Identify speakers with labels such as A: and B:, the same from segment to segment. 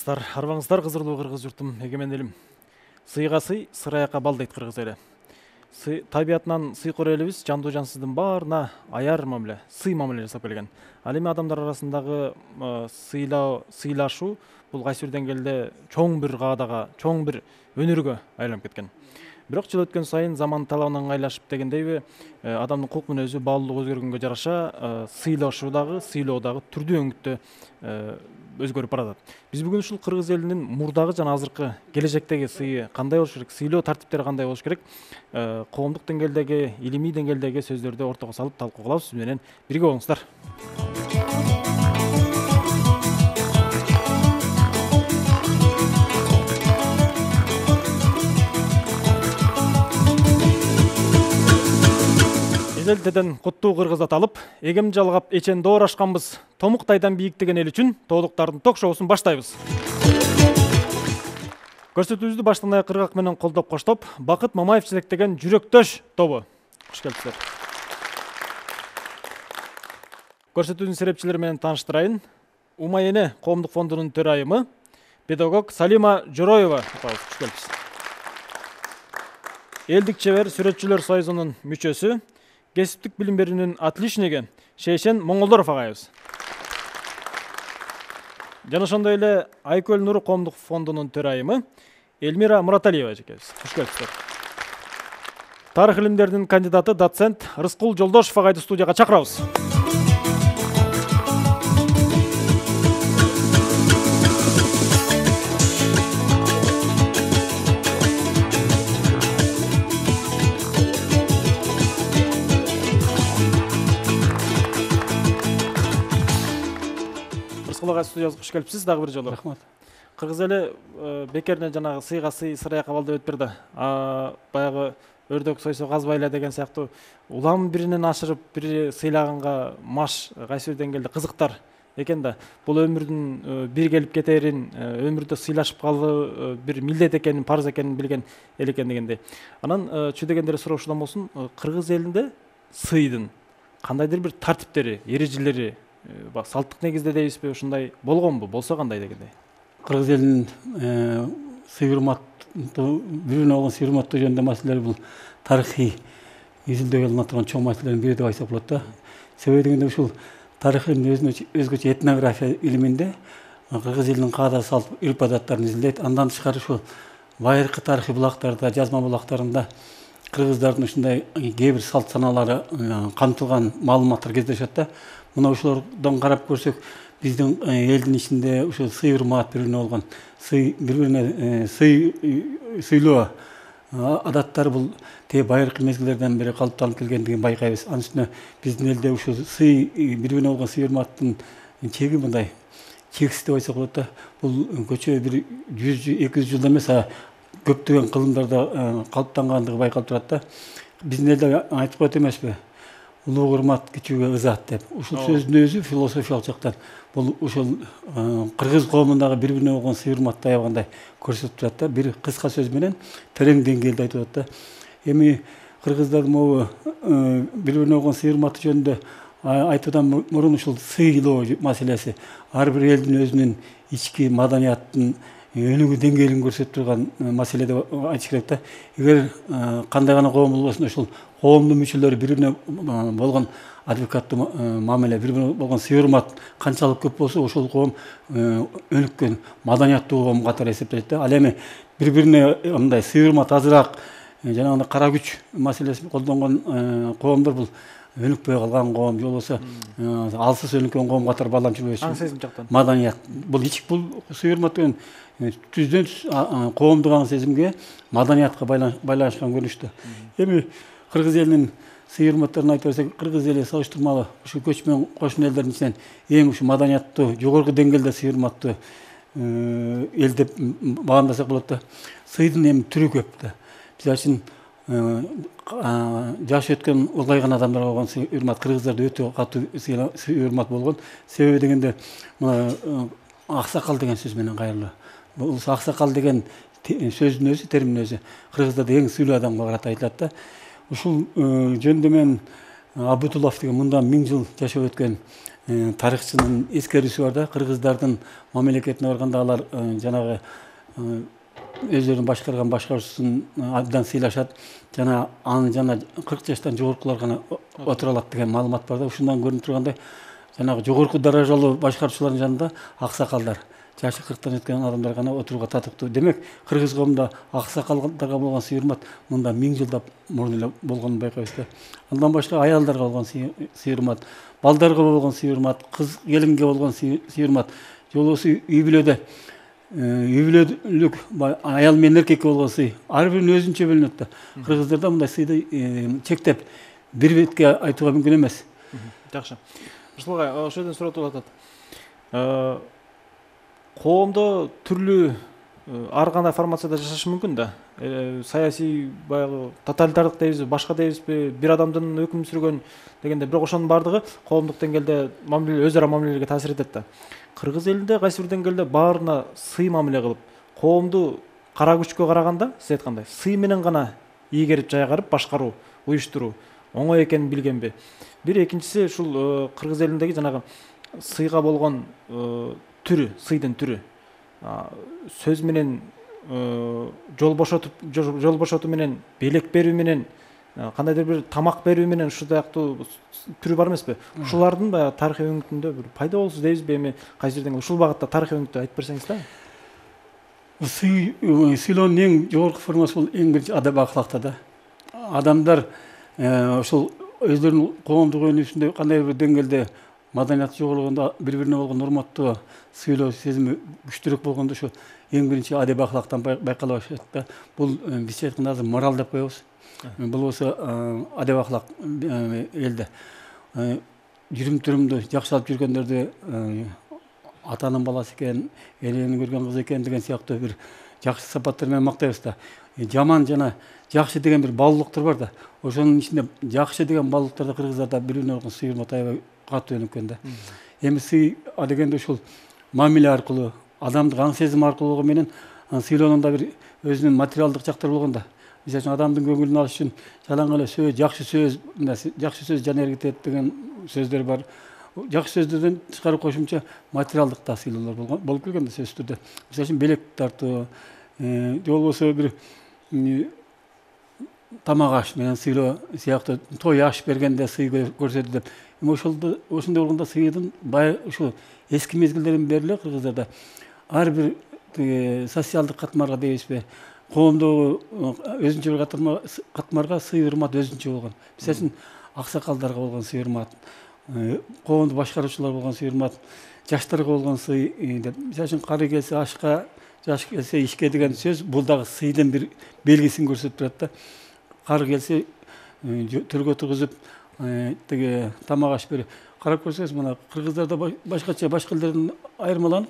A: Арбаңыздар кызырлуу кыргыз журтум, эгемен элим. Сыйга сый, сыраяка бал дейт кыргыз эли. Табиятынан сыйкор элибиз жандуу жансыздын баарына аяр мамиле, сый мамиле жасап келген. Ал эми адамдар арасындагы сыйлашуу бул кайсы бир деңгээлде чоң бир каадага, чоң бир өнөргө айланып кеткен. Бирок жыл өткөн сайын заман талабына ыңгайлашып дегендейби, адамдын кулк мүнөзү баалуулугу өзгөргөнгө жараша сыйлашуу дагы, сыйлоо дагы түрдүү өңүттө өзгөрүп баратат. Биз бүгүн ушул кыргыз элинин мурдагы жана азыркы келечектеги сыйы кандай болуш керек, сыйлоо тартиптери кандай болуш керек, коомдук деңгээлдеги, илимий деңгээлдеги сөздөрдү ортого салып талкуу кылабыз. Сиз менен бирге болуңуздар. Эзелтеден куттуу кыргыз аталып, эгем жалгап эчен доорашканбыз. Томуктайдан бийиктеген эл үчүн тоодуктардын ток-шоусун баштайбыз. Көрсөтүүбүздү баштан аяк кыргак менен колдоп коштоп, Бакыт Мамаев жетектеген Жүрөктөш тобу. Кош келипсиздер. Көрсөтүүнүн серепчилери менен тааныштырайын. Умайене коомдук фондунун төрайымы, педагог Салима Жороева. Кош келипсиз. Элдик чебер сүрөтчүлөр союзунун мүчөсү, кесиптик билим берүүнүн отличниги Шейшен Моңолдоров агайыбыз. Жана ошондой эле Айкөл Нуру коомдук фондунун төрайымы Эльмира Мураталиева жекебиз. Кош келипсиздер. Тарых илимдеринин кандидаты доцент Рыскул Жолдошов агайды студияга чакырабыз. Студиябызга кош келипсиз дагы бир жолу.
B: Рахмат.
A: Кыргыз эли бекерне жанагы сыйга сый, сыраяка бал деп өтпөрдү. Баягы өрдөк сойсо казбай эле деген сыяктуу улам биринен ашырып, бири сыйлаганга маш кайсы бир деңгээлде кызыктар экен да. Бул өмүрдүн бир келип кетерин, өмүрдө сыйлашып калуу бир милдет экенин, парыз экенин билген эл экен дегендей. Анан чүй дегендер суроошудан болсун, кыргыз элинде сыйдын кандайдыр бир тартиптери, эрежелери, салттык негизде дейбизби, ушундай болгонбу, болсо кандай дегендей.
B: Кыргыз элинин сый урматтуу, бири-бирине болгон сый урматтоо жөнүндө маселелер бул тарыхый изилдөөгө алына турган чоң маселелердин бири деп айтсак болот да. Себеби дегенде ушул тарыхын өзгөчө этнография илиминде кыргыз элинин каада салт, үрп адаттарын изилдейт. Андан тышкары ушул байыркы тарыхый булактарда, жазма булактарында кыргыздардын ушундай кээ бир салт санаалары камтылган маалыматтар кездешет да. Мына ушулардан карап көрсөк, биздин элдин ичинде ушул сый урмат, бири-бирине болгон бири-бирине сыйлоо адаттары бул те байыркы мезгилдерден бери калыптанып келгендигин байкайбыз. Анын үстүнө биздин элде ушул сый, бири-бирине болгон сый урматтын чеги мындай чексиз деп айтсак болот да. Бул көчө бир 100-200 жылда эмес, көптөгөн кылымдарда калыптангандыгы байкалып турат да. Биздин элде айтып коет эмеспи? Улуу урмат кичүүгө ызат деп. Ушул сөздүн өзү философиялык жактан бул ушул кыргыз коомундагы бири-бирине болгон сый урматты аябагандай көрсөтүп турат да. Бир кыска сөз менен терең деңгээлде айтып атат да. Эми кыргыздар могу бири-бирине болгон сый урматы жөнүндө айтуудан мурун ушул сыйлоо маселеси ар бир элдин өзүнүн ички маданияттын өнүгүү деңгээлин көрсөтүп турган маселе деп айтыш керек да. Эгер кандай гана коом болбосун, ушул коомдун мүчөлөрү бири-бирине болгон адвокаттуу мамиле, бири-бирине болгон сый урмат канчалык көп болсо, ошол коом өнүккөн, маданияттуу коом катары эсептелет да. Ал эми бири-бирине мындай сый урмат азыраак, жанагындай кара күч маселесин колдонгон коомдор бул өнүкпөй калган коом, же болбосо алсыз өнүккөн коом катары бааланып жүрбөйсүз.
A: Аң сезим жактан.
B: Маданият. Бул бул сый урмат деген түздөн коомдук аң сезимге, маданиятка байланышкан көрүнүштө. Эми кыргыз элинин сый урматтарын айтып берсек, кыргыз эли салыштырмалуу ушул көчмөн кошун элдердин ичинен эң ушу маданияттуу, жогорку деңгээлде сый урматтуу эл деп баамдасак болот да. Сыйдын эми түрү көп да. Бизер үчүн жашы өткөн, улгайган адамдарга болгон сый урмат кыргыздарда өтө катуу сый урмат болгон. Себеби дегенде аксакал деген сөз менен кайрылуу. Бул аксакал деген сөздүн өзү, термин өзү кыргыздарда эң сыйлуу адамга карата айтылат да. Ушул жөнүндө мен Абутулов деген мындан 1000 жыл жашап өткөн тарыхчынын эскерүүсү бар да, кыргыздардын мамлекетине барганда алар жанагы өздөрүнүн башкарган башкаруусун абдан сыйлашат жана аны жана 40 жаштан жогоркулар гана отура алат деген маалымат бар да. Ушундан көрүнүп тургандай жанагы жогорку даражалуу башкаруучулардын жанында аксакалдар, жашы 40тан өткөн адамдар гана отурууга татыктуу. Демек, кыргыз коомунда аксакалдарга болгон сый-урмат мында 1000 жылдап мурун эле болгонун байкайбыз да. Андан башка аялдарга болгон сый-урмат, балдарга болгон сый-урмат, кыз келинге болгон сый-урмат, жолбосо үй бүлөдө үй бүлөлүк аял менен эркекке болгон сый ар биринин өзүнчө бөлүнөт да. Кыргыздарда мындай сыйды чектеп бир бетке айтууга мүмкүн эмес.
A: Жакшы. Рыскул агай, ошол жерден суроо туруп атат. Коомдо түрлүү ар кандай формацияда жашашы мүмкүн да. Саясий баягы тоталитардык дейбизби, башка дейбизби, бир адамдын өкүм сүргөн дегенде, бирок ошонун баардыгы коомдук деңгээлде өз ара мамилелерге таасир этет да. Кыргыз элинде кайсы бир деңгээлде баарына сый мамиле кылып, коомду кара күчкө караганда, сиз айткандай, сый менен гана ийгерип жайгарып башкаруу, уюштуруу оңой экенин билгенби? Бир экинчиси ушул кыргыз элиндеги жанагы сыйга болгон түрү, сыйдын түрү. Сөз менен жол бошотуу менен, белек берүү менен, кандайдыр бир тамак берүү менен ушул сыяктуу түрү бар эмеспи? Ушулардын баягы тарыхый өңүтүндө бир пайда болсу дейбизби, эми кайсы жерден ушул багытта тарыхый өңүттү айтып берсеңиз да.
B: Сыйлоонун эң жогорку формасы бул эң биринчи адап акылакта да. Адамдар ошол өздөрүнүн коомдук өнүгүүсүндө кандайдыр бир деңгээлде маданияты жогорулгондо, бири-бирине болгон урматтуу сүйлөө сезими күчтүүрөөк болгондо ошо эң биринчи адеп акылактан байкала баштайт да. Бул бизче айтканда азыр мораль деп коебуз. Бул болсо адеп акылак элде жүрүм-турумду жакшы алып жүргөндөрдү атанын баласы экен, элени көргөн кыз экен деген сыяктуу бир жакшы сапаттар менен мактайбыз да. Жаман жана жакшы деген бир баалуулуктар бар да. Ошонун ичинде жакшы деген баалуулуктарда кыргыздарда бири-бирине болгон сый-урмат аябай катуу өнүккөн да. Эми сый дегенде ушул мамиле аркылуу, адамдык аң сезим аркылуу болгон менен сыйлоонунда бир өзүнүн материалдык жактары болгон да. Мисалы үчүн адамдын көңүлүн алыш үчүн жалаң эле сөз, жакшы сөз жан эргитет деген сөздөр бар. Жакшы сөздөрдөн тышкары кошумча материалдык да сыйлоолор болуп келген да сөзсүз түрдө. Мисалы үчүн белек тартуу, же болбосо бир тамак аш менен сыйлоо сыяктуу, той аш бергенде сый көрсөтүү деп. Эми ошондой болгондо сыйдын бай ушул эски мезгилдерден бери эле кыргыздарда ар бир социалдык катмарга дейбизби, коомдогу өзүнчө бир катмарга сый-урмат өзүнчө болгон. Мисалы үчүн аксакалдарга болгон сый-урмат, коомду башкаруучулар болгон сый-урмат, жаштарга болгон сый деп. Мисалы үчүн кары келсе ашка, жаш келсе ишке деген сөз бул дагы сыйдын бир белгисин көрсөтүп турат да. Кары келсе төргө тургузуп тиги тамак аш берип. Карап көрсөңүз, мына кыргыздарда башкача башка элдерден айырмаланып,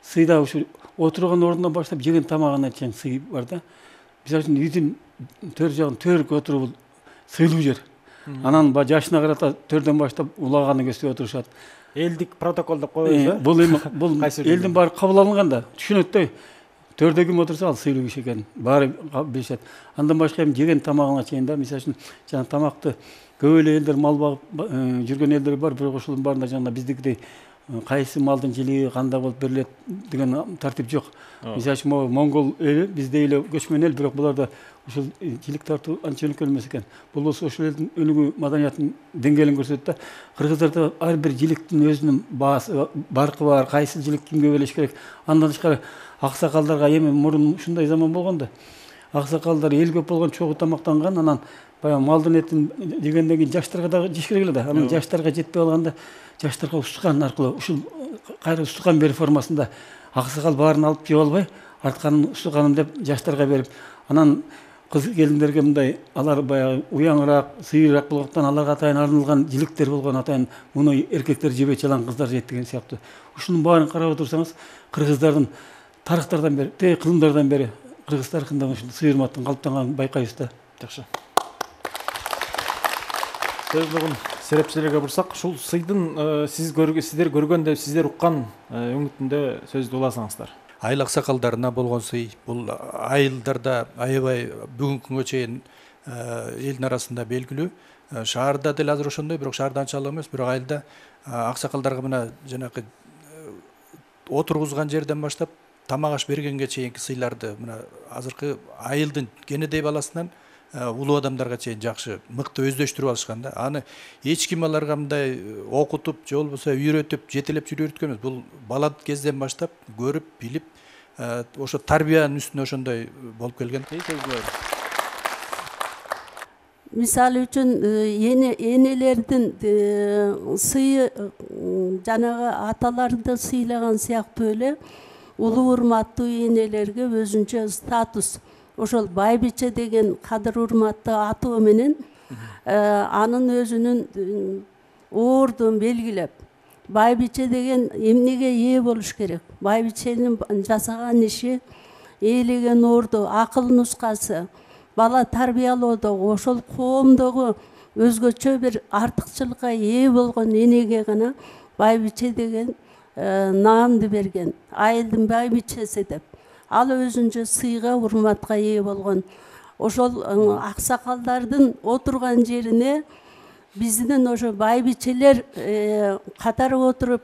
B: сыйда ушу отурган ордунан баштап жеген тамагына чейин сый бар да. Мисалы үчүн үйдүн төр жагын төргө отуруу бул сыйлуу жер. Анан жашына карата төрдөн баштап улаганы көздөй отурушат.
A: Элдик протокол деп коебуз да.
B: Бул элдин баары кабыл алынган да. Түшүнөт да. Төрдө ким отурса ал сыйлуу киши экенин баары билишет. Андан башка эми жеген тамагына чейин да, мисалы үчүн жана тамакты көп эле элдер мал багып жүргөн элдер бар, бирок ошолордун баарында жана биздикидей кайсы малдын жилиги кандай болуп берилет деген тартип жок. Мисалы үчүн монгол эли биздей эле көчмөн эл, бирок буларда ушул жилик тартуу анча өнүккөн эмес экен. Бул болсо ошол элдин өнүгүү маданиятынын деңгээлин көрсөтөт да. Кыргыздарда ар бир жиликтин өзүнүн баасы, баркы бар, кайсы жилик кимге берилиш керек. Андан тышкары аксакалдарга эми мурун ушундай заман болгон да. Аксакалдар эл көп болгон чогуу тамактанган, анан баягы малдын этин жегенден кийин жаштарга дагы жеш керек эле да. Анан жаштарга жетпей калганда жаштарга устукан аркылуу ушул кайра устукан берүү формасында аксакал баарын алып жеп албай, артканын устуканым деп жаштарга берип, анан кыз келиндерге мындай алар баягы уяңыраак, сыйыраак болгондуктан аларга атайын арналган жиликтер болгон, атайын муну эркектер жебей чалан кыздар жейт деген сыяктуу. Ушунун баарын карап отурсаңыз, кыргыздардын тарыхтардан бери, кылымдардан бери кыргыз тарыхында ушул сый-урматтын калыптанганын байкайбыз да.
A: Жакшы. Сөз нугун серепчилерге бурсак, ушул сыйдын сиздер көргөн деп сиздер уккан өңүтүндө сөздү уласаңыздар.
C: Айыл аксакалдарына болгон сый бул айылдарда аябай бүгүнкү күнгө чейин элдин арасында белгилүү. Шаарда деле азыр ошондой, бирок шаарда анчалык эмес, бирок айылда аксакалдарга мына жанакы отургузган жерден баштап тамак аш бергенге чейинки сыйларды мына азыркы айылдын кенедей баласынан улуу адамдарга чейин жакшы мыкты өздөштүрүп алышкан да. Аны эч ким аларга мындай окутуп же болбосо үйрөтүп жетелеп жүргөрткөн эмес. Бул бала кезден баштап көрүп билип ошо тарбиянын үстүнө ошондой болуп келген.
D: Мисалы үчүн энелердин сыйы жанагы аталарды сыйлаган сыяктуу эле улуу урматтуу энелерге өзүнчө статус, ошол байбиче деген кадыр урматтуу атоо менен анын өзүнүн ордун белгилеп, байбиче деген эмнеге ээ болуш керек, байбиченин жасаган иши, ээлеген орду, акыл нускасы, бала тарбиялоодо ошол коомдогу өзгөчө бир артыкчылыкка ээ болгон энеге гана байбиче деген наамды берген, айылдын байбичеси деп. Ал өзүнчө сыйга, урматка ээ болгон. Ошол аксакалдардын отурган жерине биздин ошо байбичелер катары отуруп,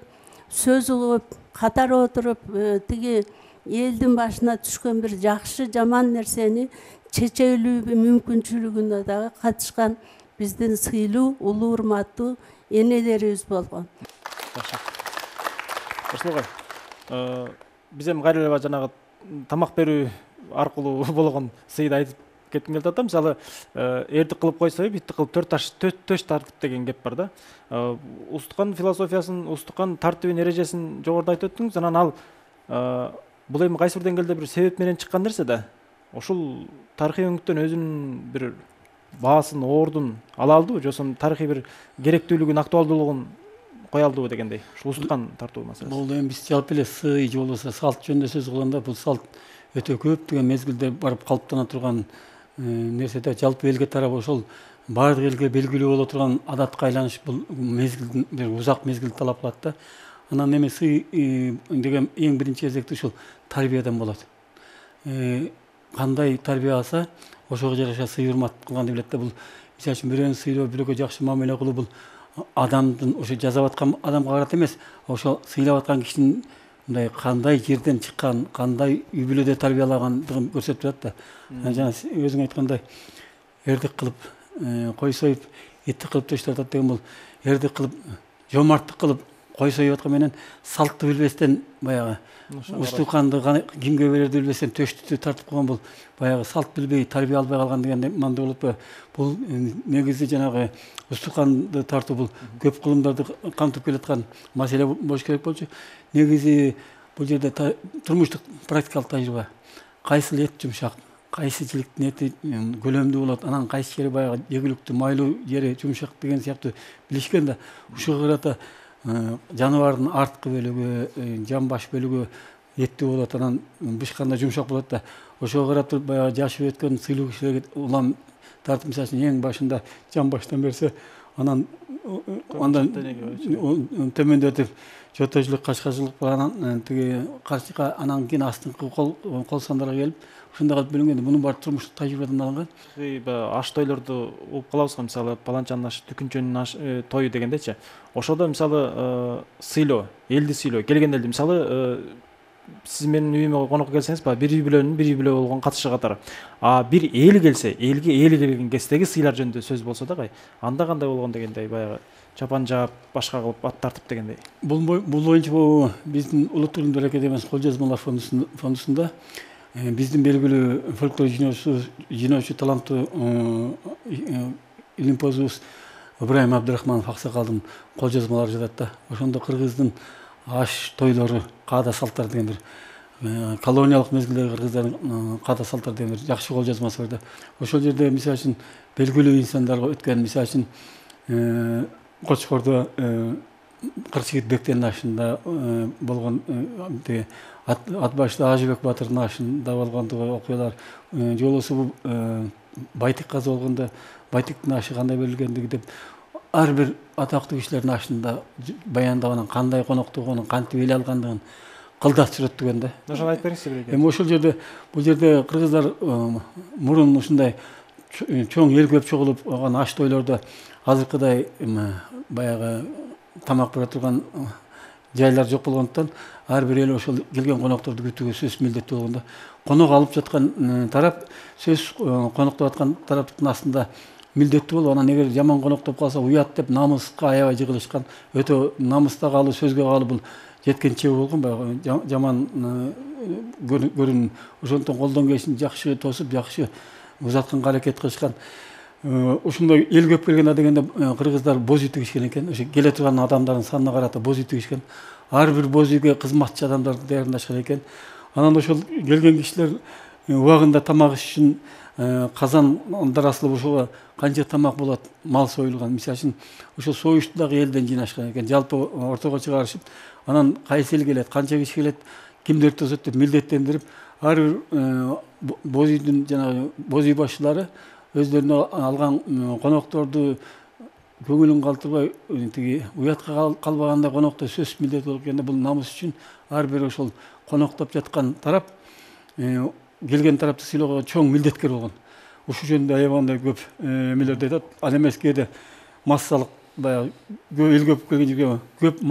D: сөз угуп, катары отуруп, тиги элдин башына түшкөн бир жакшы жаман нерсени чечелүү мүмкүнчүлүгүнө дагы катышкан биздин сыйлуу, улуу урматтуу энелерибиз болгон.
A: Расул биз эми кайра эле жанагы тамак берүү аркылуу болгон сыйды айтып кетким келип атам. Мисалы, эрдик кылып койсо, битти кылып төш тартып деген кеп бар да. Устукан философиясын, устукан тартибин, эрежесин жогоруда айтып өттүңүз. Анан ал бул эми кайсы бир деңгээлде бир себеп менен чыккан нерсе да. Ушул тарыхый өңүттөн өзүнүн бир баасын, ордун ала алдыбы, же тарыхый бир керектүүлүгүн, актуалдуулугун кое алдыбы дегендей. Ушул устукан тартуу маселеси.
B: Бул эми биз жалпы эле сый же болбосо салт жөнүндө сөз кылганда, бул салт өтө көптөгөн мезгилде барып калыптана турган нерсе да. Жалпы элге тарап ошол баардык элге белгилүү боло турган адатка айланыш бул мезгилдин бир узак мезгил талап кылат да. Анан эми сый деген эң биринчи кезекте ушул тарбиядан болот. Кандай тарбия алса, ошого жараша сый урмат кылганды билет да. Бул мисалы үчүн бирөөнү сыйлоо, бирөөгө жакшы мамиле кылуу, бул адамдын ошо жасап аткан адамга карата эмес, ошо сыйлап аткан кишинин мындай кандай жерден чыккан, кандай үй бүлөдө тарбиялагандыгын көрсөтүп турат да. Жана өзүң айткандай эрдик кылып кой союп, эттик кылып төш тартат деген бул эрдик кылып, жомарттык кылып кой союп аткан менен салтты билбестен баягы устуканды кимге берерди билбестен төштү тартып койгон, бул баягы салт билбей, тарбия албай калган деген манда болуп па. Бул негизи жанагы устуканды тартуу бул көп кылымдарды камтып келаткан маселе болуш керек болчу. Негизи бул жерде турмуштук практикалык тажрыйба. Кайсыл эт жумшак, кайсы жиликтин эти көлөмдүү болот, анан кайсы жери баягы жегиликтүү, майлуу жери жумшак деген сыяктуу билишкен да. Ушуга карата жаныбардын арткы бөлүгү, жамбаш бөлүгү эттүү болот, анан бышканда жумшак болот да. Ошого карап туруп баягы жашып өткөн сыйлуу кишилерге улам тартып, мисалы үчүн эң башында жамбаштан берсе, анан төмөндөтүп жотожулук, кашкажылык, анан тиги карчыка, анан кийин астыңкы кол сандарга келип, ушундай кылып бөлүнгөн. Мунун баары турмуштук тажрыйбадан алынган.
A: Аш тойлорду угуп калабыз го, мисалы паланчанын ашы, түкүнчөнүн тою дегендечи. Ошодо мисалы сыйлоо, элди сыйлоо, келген элди мисалы сиз менин үйүмө конокко келсеңиз, бир үй бүлө болгон катышы катары. Бир эл келсе, элге келген кездеги сыйлар жөнүндө сөз болсо дагы, анда кандай болгон дегендей, баягы чапан жаап, башка кылып, ат тартып дегендей. Бул
B: боюнча биздин Улуттук Илимдер Академиясынын кол жазмалар фондусунда биздин белгилүү фольклор жыйноочу таланттуу илимпоздубуз Ибраим Абдырахманов аксакалдын кол жазмалары жатат да. Ошондо кыргыздын аш тойлору, каада салттар деген бир колониялык мезгилдеги кыргыздардын каада салттар деген бир жакшы кол жазмасы бар да. Ошол жерде мисалы үчүн белгилүү инсандарга өткөн, мисалы үчүн Кочкордо Кырчыгит Бектенин ашында болгон ат башты Ажыбек Батырдын ашында болгондугу окуялар, же болбосо бул Байтик каза болгондо Байтиктин ашы кандай берилгендиги деп ар бир атактуу кишилердин ашында баяндап, анан кандай коноктогонун, кантип эл алгандыгын кылдат сүрөттөгөн да.
A: Ошону айтып бериңизчи бирге.
B: Эми ошол жерде, бул жерде кыргыздар мурун ушундай чоң эл көп чогулуп алган аш тойлордо азыркыдай баягы тамак бере турган жайлар жок болгондуктан ар бир эл ошол келген конокторду күтүүгө сөзсүз милдеттүү болгондо конок алып жаткан тарап сөзсүз коноктоп аткан тараптын астында милдеттүү болуп, анан эгер жаман коноктоп калса уят деп намыска аябай жыгылышкан, өтө намыста калуу, сөзгө калуу бул жеткенче болгон, баягы жаман көрүн. Ошондон колдон келишин жакшы тосуп, жакшы узатканга аракет кылышкан. Ушундай эл көп келген дегенде кыргыздар боз үй тигишкен экен. Ошо келе турган адамдардын санына карата боз үй тигишкен. Ар бир боз үйгө кызматчы адамдарды даярдашкан экен. Анан ошол келген кишилер убагында тамак иш үчүн казандар асылып ошого канча тамак болот, мал союлган. Мисалы үчүн ошол союшту дагы элден жыйнашкан экен. Жалпы ортого чыгарышып, анан кайсы эл келет, канча киши келет, кимдер тосот деп милдеттендирип, ар бир боз үйдүн жанагы боз үй башчылары өздөрүнө алган конокторду көңүлүн калтырбай, тиги уятка калбагандай конокто сөзсүз милдет болуп келгенде, бул намыс үчүн ар бир ошол коноктоп жаткан тарап келген тарапты сыйлоого чоң милдеткер болгон. Ушул жөнүндө аябагандай көп эмелерди айтат. Ал эмес кээде массалык баягы эл көп келген жерге көп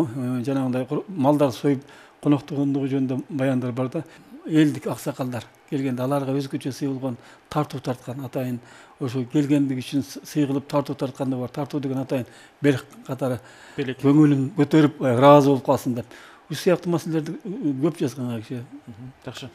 B: жанагындай малдар союп коноктогондугу жөнүндө баяндар бар да. Элдик аксакалдар келгенде аларга өзгөчө сый болгон, тартуу тарткан атайын ошо келгендиги үчүн сый кылып тартуу тарткан да бар. Тартуу деген атайын белек катары көңүлүн көтөрүп ыраазы болуп калсын деп. Ушул сыяктуу маселелерди көп жазган киши.
A: Жакшы.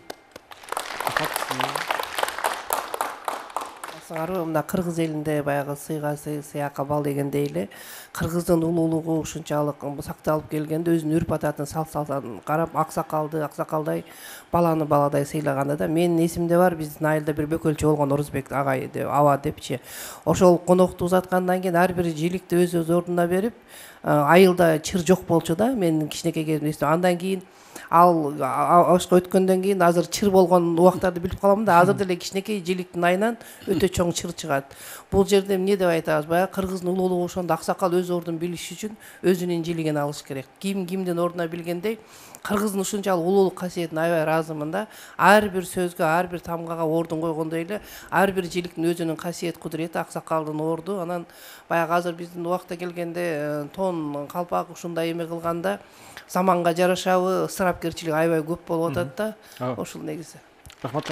E: Мына кыргыз элинде баягы сыйга сый, сыякка бал дегендей эле кыргыздын улуулугу ушунчалык сакталып келгенде өзүнүн үрп адатын салт-салтын карап аксакалдай баланы баладай сыйлаганда да менин эсимде бар, биздин айылда бир бөкөлчү болгон Орузбек агай деп, аба депчи. Ошол конокту узаткандан кийин ар бир жиликти өз ордуна берип, айылда чыр жок болчу да, менин кичинекей кезимде. Андан кийин ал ашка өткөндөн кийин азыр чыр болгон убактарды билип калам да, азыр деле кичинекей жиликтин айынан өтө чоң чыр чыгат. Бул жерде эмне деп айтабыз? Баягы кыргыздын улуулугу ошондо аксакал өз ордун билиш үчүн өзүнүн жилигин алыш керек. Кимдин ордуна билгендей, кыргыздын ушунчалык улуулук касиетине аябай ыраазымын да. Ар бир сөзгө, ар бир тамгага ордун койгондой эле ар бир жиликтин өзүнүн касиет кудурети, аксакалдын орду. Анан баягы азыр биздин убакта келгенде тон, калпак ушундай эме кылганда заманга жарашабы ысырапкерчилик аябай көп болуп атат да. Ошол негизи.
A: Рахмат.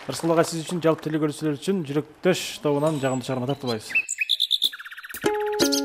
A: Рыскул агай, сиз үчүн, жалпы телекөрүүчүлөр үчүн жүрөктөш тобунан жагымдуу чыгарма тартуулайбыз.
F: Kırgız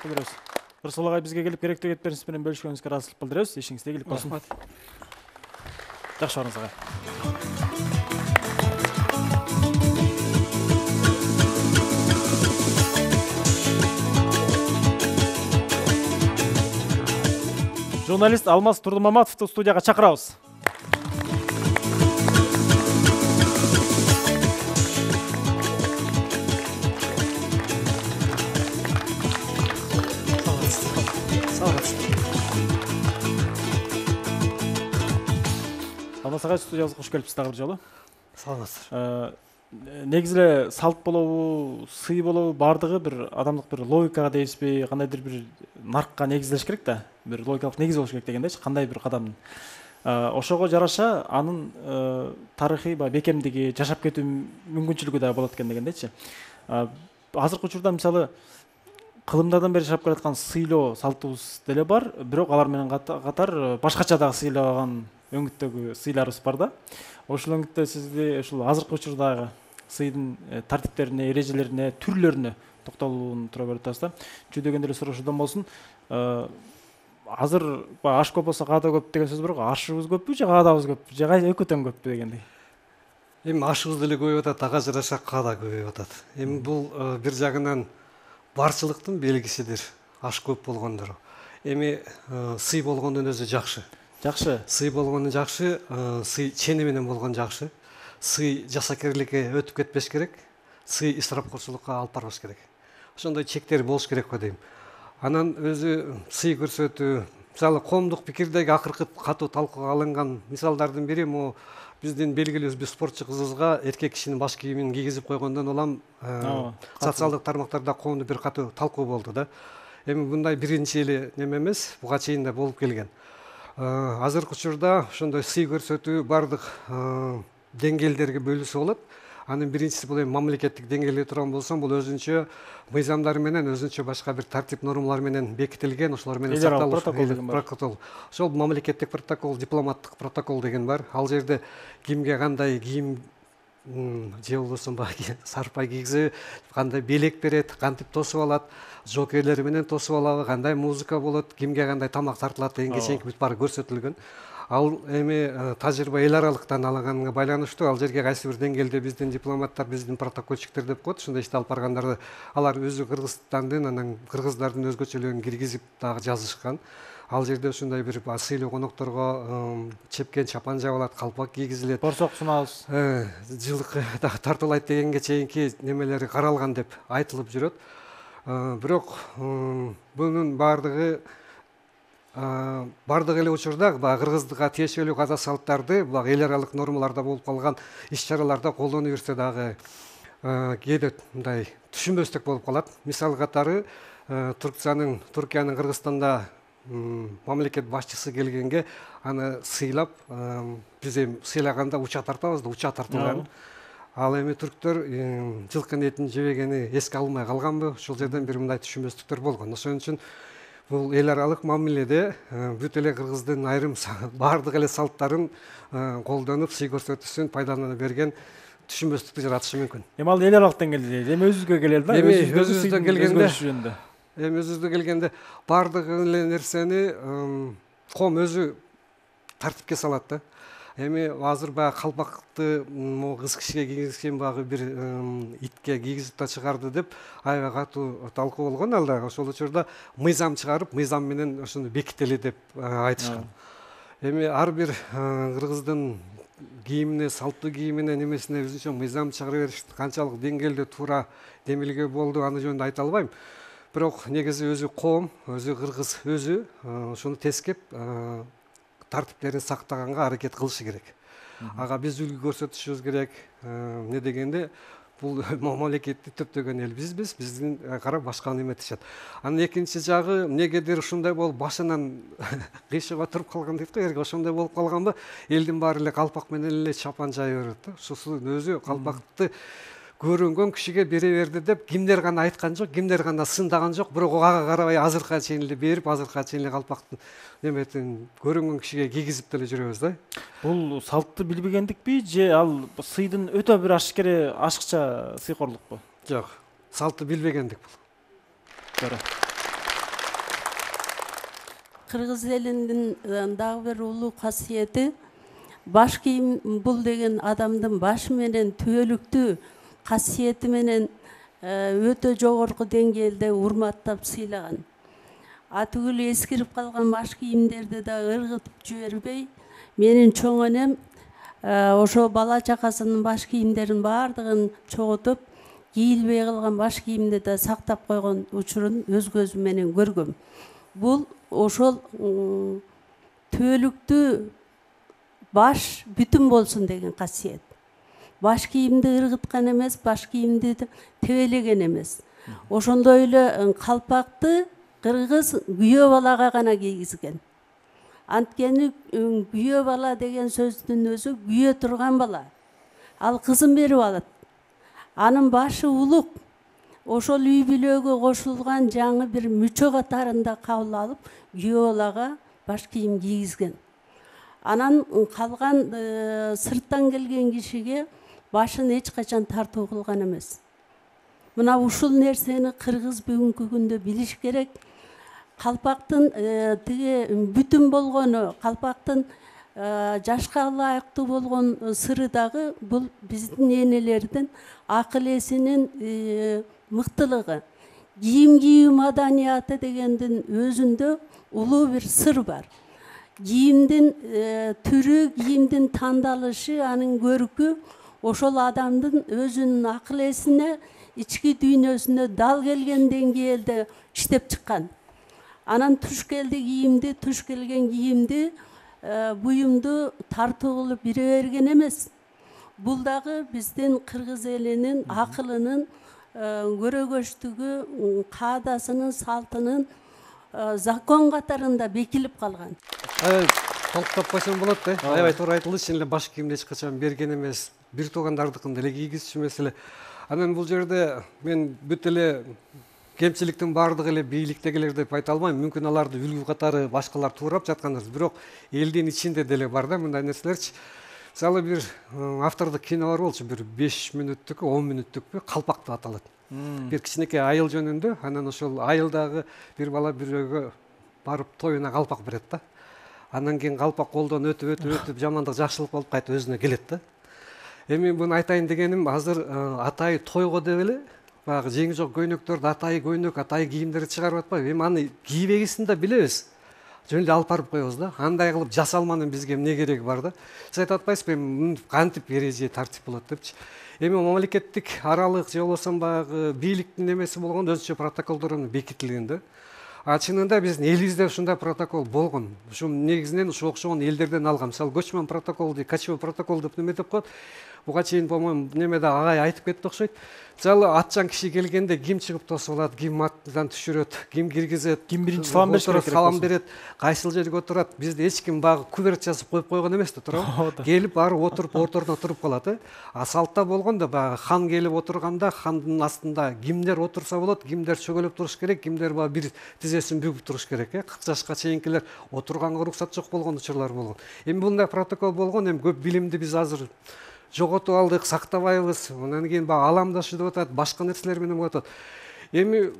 A: ыраазычылык билдиребиз. Рысул агай бизге келип керектүү кетпериңиз менен бөлүшкөнүңүзгө ыраазычылык билдиребиз. Ишиңизде ийгилик болсун. Жакшы барыңыз агай. Журналист Алмаз Турдумаматовду студияга чакырабыз. Алмаз агай, студиябызга кош келипсиз дагы бир жолу.
F: Саламатсыздар.
A: Негизи эле салт болобу, сый болобу, баардыгы бир адамдык бир логикага дейсизби, кандайдыр бир наркка негизделиш керек да. Бир логикалык негиз болуш керек дегендейчи, кандай бир кадамдын. Ошого жараша анын тарыхый бекемдиги, жашап кетүү мүмкүнчүлүгү да болот экен дегендейчи. Азыркы учурда мисалы кылымдардан бери жашап келаткан сыйлоо салтыбыз деле бар, бирок алар менен катар башкача дагы сыйлаган өңүттөгү сыйларыбыз бар да. Ошол өңүттө сизди ушул азыркы учурдагы сыйдын тартиптерине, эрежелерине, түрлөрүнө токтолууну туура көрүп атабыз да. Жүдөгөн деле суроошодон болсун. Азыр аш көп болсо каада көп деген сөз бар го. Ашыбыз көппү же каадабыз көппү же экөө тең көппү дегендей.
F: Эми ашыбыз деле көбөйүп атат, ага жараша каада көбөйүп атат. Эми бул бир жагынан барчылыктын белгисидир, аш көп болгондор. Эми сый болгондун өзү жакшы.
A: Жакшы.
F: Сый болгону жакшы, сый чени менен болгон жакшы. Сый жасакерликке өтүп кетпеш керек. Сый исрапкорчулукка алып барбаш керек. Ошондой чектер болуш керек го дейм. Анан өзү сый көрсөтүү, мисалы коомдук пикирдеги акыркы катуу талкууга алынган мисалдардын бири могу биздин белгилүү бир спортчу кызыбызга эркек кишинин баш кийимин кийгизип койгондон улам социалдык тармактарда коомдук бир катуу талкуу болду да. Эми мындай биринчи эле неме эмес, буга чейин да болуп келген. Азыркы учурда ошондой сый көрсөтүү бардык деңгээлдерге бөлүнсө болот. Анын биринчиси бул эми мамлекеттик деңгээлде турган болсом, бул өзүнчө мыйзамдар менен, өзүнчө башка бир тартип нормалар менен бекитилген, ошолор менен сакталыш протокол. Ошол мамлекеттик протокол, дипломаттык протокол деген бар. Ал жерде кимге кандай кийим же болбосо сарпай кийгизеби, кандай белек берет, кантип тосуп алат, жокейлер менен тосуп алабы, кандай музыка болот, кимге кандай тамак тартылат дегенге чейинки бүт баары көрсөтүлгөн. Ал эми тажрыйба эл аралыктан алынганга байланыштуу. Ал жерге кайсы бир деңгээлде биздин дипломаттар, биздин протоколчиктер деп коет, ошондой ишти алып баргандарды алар өзү Кыргызстандын, анан кыргыздардын өзгөчөлүгүн киргизип дагы жазышкан. Ал жерде ушундай бир сыйлуу конокторго чепкен чапан жабылат, калпак кийгизилет.
A: Борсок сунабыз.
F: Жылкы тартылайт дегенге чейинки немелери каралган деп айтылып жүрөт. Бирок бунун баардыгы эле учурда кыргыздыкка тиешелүү каада салттарды эл аралык нормаларда болуп калган иш-чараларда колдоно берсе дагы кээде мындай түшүнбөстүк болуп калат. Мисал катары Туркиянын Кыргызстанда мамлекет башчысы келгенге аны сыйлап, биз эми сыйлаганда уча тартабыз да, уча тартылган. Ал эми түрктөр жылкынын этин жебегени эске алынбай калганбы? Ошол жерден бир мындай түшүнбөстүктөр болгон. Ошон үчүн бул эл аралык мамиледе бүт эле кыргыздын айрым баардык эле салттарын колдонуп, сый көрсөтүүсүн пайдалана берген түшүнбөстүктү жаратышы мүмкүн.
A: Эми ал эл аралык деңгээлде, эми өзүбүзгө келели да.
F: Эми өзүбүзгө келгенде баардык эле нерсени коом өзү тартипке салат да. Эми азыр баягы калпакты кыз кишиге кийгизген баягы бир итке кийгизип да чыгарды деп аябай катуу талкуу болгон. Алда ошол учурда мыйзам чыгарып, мыйзам менен ошону бекители деп айтышкан. Эми ар бир кыргыздын кийимине, салттуу кийимине, немесине өзүнчө мыйзам чыгара бериш канчалык деңгээлде туура демилге болду, аны жөнүндө айта албайм. Бирок негизи өзү коом, өзү кыргыз өзү ошону тескеп тартиптерин сактаганга аракет кылышы керек. Ага биз үлгү көрсөтүшүбүз керек. Не дегенде бул мамлекетти төптөгөн эл бизбиз, биздин карап башканы эметишет. Анын экинчи жагы, эмнегедир ушундай болуп башынан кыйшыгып туруп калган дейт го, эрге ошондой болуп калганбы? Элдин баары эле калпак менен эле чапан жая берет да. Ушусу өзү калпакты көрүнгөн кишиге бере берди деп кимдер гана айткан жок, кимдер гана сындаган жок, бирок ага карабай азыркыга чейин эле берип, азыркыга чейин эле калпактын неметин көрүнгөн кишиге кийгизип деле жүрөбүз да.
A: Бул салтты билбегендикпи же ал сыйдын өтө бир ашыкча сыйкорлукпу?
F: Жок, салтты билбегендик бул.
A: Туура.
D: кыргыз элинин дагы бир улуу касиети, баш кийим бул деген адамдын башы менен түбөлүктүү касиети менен өтө жогорку деңгээлде урматтап сыйлаган. Түгүл эскирип калган баш кийимдерди да ыргытып жибербей, менин чоң энем ошо бала чакасынын баш кийимдерин баардыгын чогултуп, кийилбей калган баш кийимди да сактап койгон учурун өз көзүм менен көргөм. Бул ошол түбөлүктүү баш бүтүн болсун деген касиет. Баш кийимди ыргыткан эмес, баш кийимди тебелеген эмес. Ошондой эле калпакты кыргыз күйөө балага гана кийгизген. Анткени күйөө бала деген сөздүн өзү күйө турган бала. Ал кызын берип алат. Анын башы улук. Ошол үй бүлөгө кошулган жаңы бир мүчө катарында кабыл алып, күйөө балага баш кийим кийгизген. Анан калган сырттан келген кишиге башын эч качан тартуу кылган эмес. Мына ушул нерсени кыргыз бүгүнкү күндө билиш керек. Калпактын тиги бүтүн болгону, калпактын жашка ылайыктуу болгон сыры дагы бул биздин энелердин акыл эсинин мыктылыгы. Кийим кийүү маданияты дегендин өзүндө улуу бир сыр бар. Кийимдин түрү, кийимдин тандалышы, анын көркү ошол адамдын өзүнүн акыл эсине, ички дүйнөсүнө дал келген деңгээлде иштеп чыккан. Анан туш келген кийимди, буюмду тартуу кылып бире берген эмес. Бул дагы биздин кыргыз элинин акылынын, көрөгөчтүгү, каадасынын, салтынын закон катарында бекилип калган.
F: Толуктап койсом болот да. Аябай туура айтылды. Чын эле баш кийимди эч качан берген эмес. Бир туугандардыкын деле кийгизчү эмес эле. Анан бул жерде мен бүт эле кемчиликтин баардыгы эле бийликтегилер деп айта албайм. Мүмкүн аларды үлгү катары башкалар туурап жаткандыр. Бирок элдин ичинде деле бар да мындай нерселерчи. Мисалы бир автордук кино бар болчу, бир 5 мүнөттүкпү, 10 мүнөттүкпү, Калпак деп аталат. Бир кичинекей айыл жөнүндө, анан ошол айылдагы бир бала бирөөгө барып тоюна калпак берет да. Андан кийин калпак колдон өтүп жамандык жакшылык болуп кайтып өзүнө келет да. Эми буну айтайын дегеним, азыр атайы тойго деп эле баягы жеңи жок көйнөктөрдү, атайы көйнөк, атайы кийимдерди чыгарып атпайбы? Эми аны кийбегесин да билебиз. Жөн эле алып барып коебуз да. Андай кылып жасалманын бизге эмне кереги бар да? Сиз айтып атпайсызбы эми кантип эреже тартип болот депчи? Эми мамлекеттик аралык же болбосо баягы бийликтин эмеси болгондо өзүнчө протоколдор бекитилген да. Чынында биздин элибизде ушундай протокол болгон. Ушу негизинен ушу окшогон элдерден алган. Мисалы көчмөн протокол дейт, кочевой протокол деп неме деп коет. Буга чейин по-моему немеде агай айтып кетти окшойт. Мисалы атчан киши келгенде ким чыгып тосуп алат, ким аттан түшүрөт, ким киргизет,
A: ким биринчи салам бериш керек,
F: салам берет, кайсыл жерге отурат. Бизде эч ким багы куверт жазып коюп койгон эмес да, туурабы? Келип баары отуруп орторуна туруп калат. Салтта болгондо баягы хан келип отурганда хандын астында кимдер отурса болот, кимдер чөгөлөп туруш керек, кимдер баягы бир тизесин бүгүп туруш керек. 40 жашка чейинкилер отурганга уруксат жок болгон учурлар болгон. Эми мындай протокол болгон, эми көп билимди биз азыр жоготуп алдык, сактабайбыз. Андан кийин баягы аламдашы деп атат, башка нерселер менен болуп атат. Эми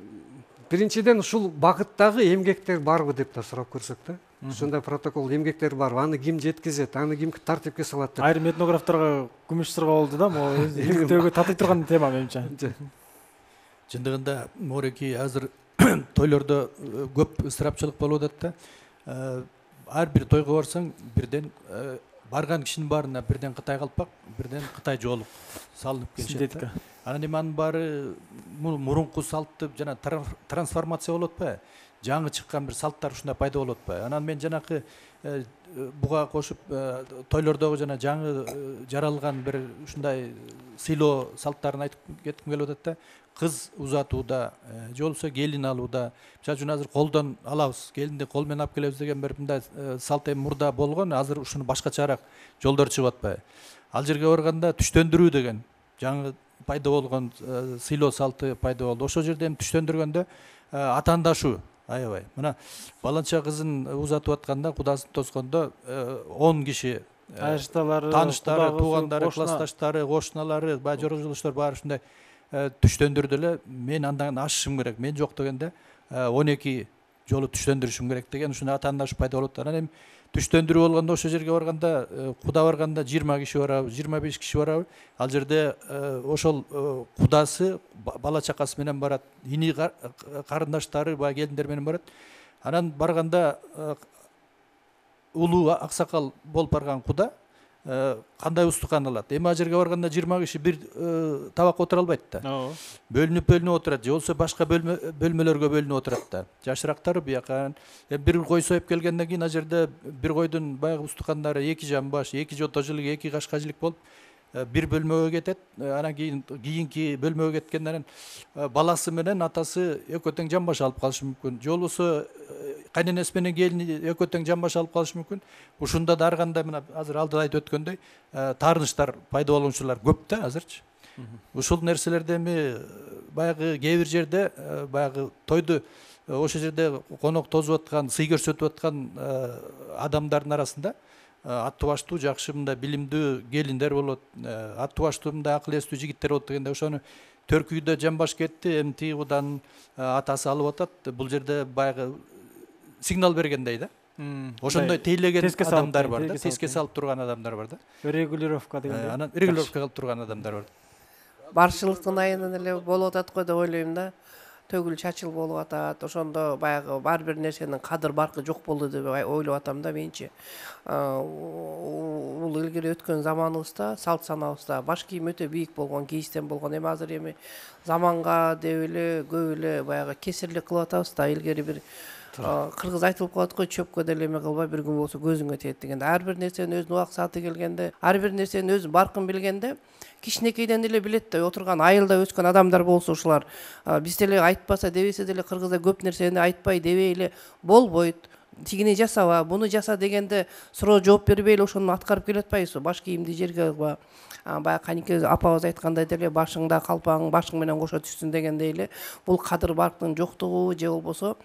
F: биринчиден ушул багыттагы эмгектер барбы деп да сурап көрсөк да. Ушундай протокол эмгектер барбы? Аны ким жеткизет? Аны ким тартипке салат деп.
A: Айрым этнографтарга күмүш сырга болду да, могу эмгектөөгө татый турган тема менимче.
C: Чындыгында Мореки азыр тойлордо көп ысырапчылык болуп атат да. Ар бир тойго барсаң, бирден барган кишинин баарына бирден Кытай калпак, бирден Кытай жоолук салынып келишет. Анан эми анын баары мурунку салтты жана трансформация болуп атпайбы? Жаңы чыккан бир салттар ушундай пайда болуп атпайбы? Анан мен жанакы буга кошуп тойлордогу жана жаңы жаралган бир ушундай сыйлоо салттарын айтып кетким келип атат да. Кыз узатууда, же болбосо келин алууда, мисалы үчүн азыр колдон алабыз, келинди кол менен алып келебиз деген бир мындай салт эми мурда болгон, азыр ушуну башкачараак жолдор чыгып атпайбы? Ал жерге барганда түштөндүрүү деген жаңы пайда болгон сыйлоо салты пайда болду. Ошол жерде эми түштөндүргөндө атаандашуу аябай. Мына баланча кызын узатып атканда, кудасын тоскондо 10 киши тааныштары, туугандары, классташтары, кошуналары, баягы жора-жолдоштор баары ушундай түштөндүрдү эле. Мен андан ашышым керек. Мен жок дегенде 12 жолу түштөндүрүшүм керек деген ушундай атаандашып пайда болот. Анан эми түштөндүрүү болгондо ошол жерге барганда куда барганда 20 киши барабы, 25 киши барабы, ал жерде ошол кудасы бала чакасы менен барат, ини карындаштары баягы келиндер менен барат. Анан барганда улуу аксакал болуп барган куда кандай устукан алат. Эми ал жерге барганда 20 киши бир табакка отура албайт да. Бөлүнүп отурат, же болбосо башка бөлмөлөргө бөлүнүп отурат да. Жашырактары бияка. Бир кой союп келгенден кийин ал жерде бир койдун баягы устукандары 2 жамбаш, 2 жото жилик, 2 кашка жилик болуп бир бөлмөгө кетет. Анан кийинки бөлмөгө кеткенден баласы менен атасы экөө тең жамбаш алып калышы мүмкүн. Же болбосо кайненеси менен келини экөө тең жамбаш алып калышы мүмкүн. Ушунда да ар кандай мына азыр алдыда айтып өткөндөй таарынычтар пайда болуучулар көп да азырчы. Ушул нерселерди эми баягы кээ бир жерде баягы тойду ошол жерде конок тосуп аткан, сый көрсөтүп аткан адамдардын арасында аттуу баштуу жакшы мындай билимдүү келиндер болот, аттуу баштуу мындай акыл эстүү жигиттер болот дегенде ошону төркүйдө жамбаш кетти, эми тиги куданын атасы алып атат. Бул жерде баягы сигнал бергендей да. Ошондой тейлеген адамдар бар да, теске салып турган адамдар бар да.
A: Регулировка дегендей.
C: Анан регулировка кылып турган адамдар бар.
E: Барчылыктын айынан эле болуп атат го деп ойлойм да. Төгүл чачыл болуп атат. Ошондо баягы ар бир нерсенин кадыр баркы жок болду деп ойлоп атам да менчи. Бул илгери өткөн заманыбызда, салт санабызда баш кийим өтө бийик болгон, кийистен болгон. Эми азыр заманга деп эле көп эле баягы кесирлик кылып атабыз да. Илгери бир кыргыз айтылып калат го, чөпкө деле эме кылбай бир күн болсо көзүңө тиет дегенде. Ар бир нерсенин өзүнүн убак сааты келгенде, ар бир нерсенин өзүнүн баркын билгенде кичинекейден эле билет да. Отурган айылда өскөн адамдар болсо ушулар биз деле айтпаса дебесе деле кыргызда көп нерсени айтпай дебей эле болбойт. Тигини жасаба, буну жаса дегенде суроо жооп бербей эле ошону аткарып келе атпайбызбы? Баш кийимди жерге кылба. Баягы канеке апабыз айткандай деле башыңда калпаң башың менен кошо түшсүн дегендей эле бул кадыр барктын жоктугу же болбосо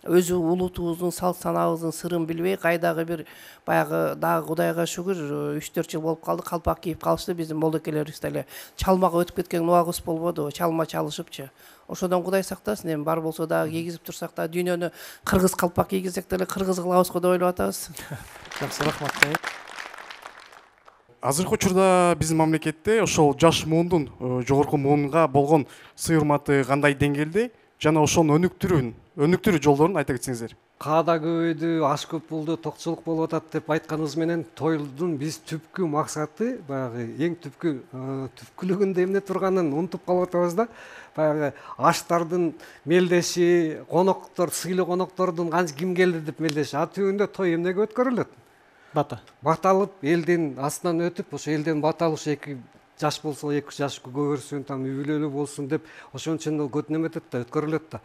E: өзү улутубуздун салт санабыздын сырын билбей кайдагы бир баягы дагы Кудайга шүгүр 3-4 жыл болуп калды, калпак кийип калышты. Биздин молдокелерибиз деле чалмага өтүп кеткен убагыбыз болбодубу? Чалма чалышыпчы. Ошодон Кудай сактасын. Эми бар болсо дагы кийгизип турсак да дүйнөнү кыргыз калпак кийгизсек деле кыргыз кылабыз го деп ойлоп атабыз.
A: Жакшы, рахмат.
G: Азыркы учурда биздин мамлекетте ошол жаш муундун жогорку муунга болгон сый урматы кандай деңгээлде жана ошонун өнүктүрүү жолдорун айта кетсеңиздер.
F: Каада көбөйдү, аш көп болду, токчулук болуп атат деп айтканыбыз менен тойдун биз түпкү максаты баягы эң түпкүлүгүндө эмне турганын унутуп калып атабыз да. Баягы аштардын мелдеши, коноктор, сыйлуу коноктордун ким келди деп мелдеши. Түбүндө той эмнеге өткөрүлөт? Баталып, элдин астынан өтүп, ошо элден бата алып, 2 жаш болсо 2 жаш көбөрсүн, там үй бүлөлүү болсун деп ошон үчүн көтүнөмөтөт да, өткөрүлөт да.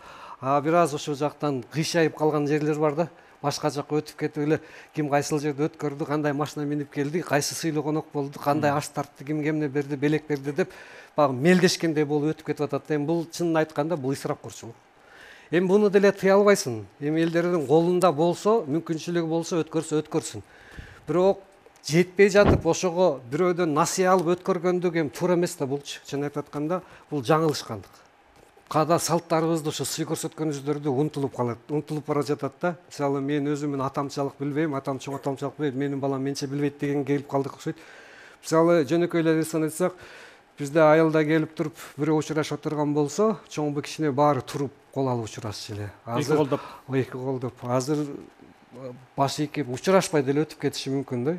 F: Бир аз ошол жактан кыйшайып калган жерлер бар да. Башка жакка өтүп кетип эле ким кайсыл жерде өткөрдү, кандай машина минип келди, кайсы сыйлуу конок болду, кандай аш тартты, ким кемне берди, белек берди деп баягы мелдешкендей болуп өтүп кетип атат. Эми бул чынын айтканда бул исрапкорчулук. Эми буну деле тыя албайсың. Эми элдердин колунда болсо, мүмкүнчүлүгү болсо өткөрсүн. Бирок жетпей жатып ошого бирөөдөн насыя алып өткөргөндүк эми туура эмес да булчу. Чын айтып атканда бул жаңылышкандык. Када салттарыбызды ошо сый көрсөткөнүбүздөрдү унутулуп калат, унутулуп бара жатат да. Мисалы мен өзүмүн атамчылык билбейм, атам чоң атамчылык билбейт, менин балам менче билбейт деген келип калдык окшойт. Мисалы жөнөкөйлөрдөн айтсак, бизде айылда келип туруп бирөө учурашып отурган болсо, чоңбу кичине баары туруп кол алып учурашчу эле.
A: Азыр
F: эки колдоп. Азыр баш ийкип учурашпай деле өтүп кетиши мүмкүн да.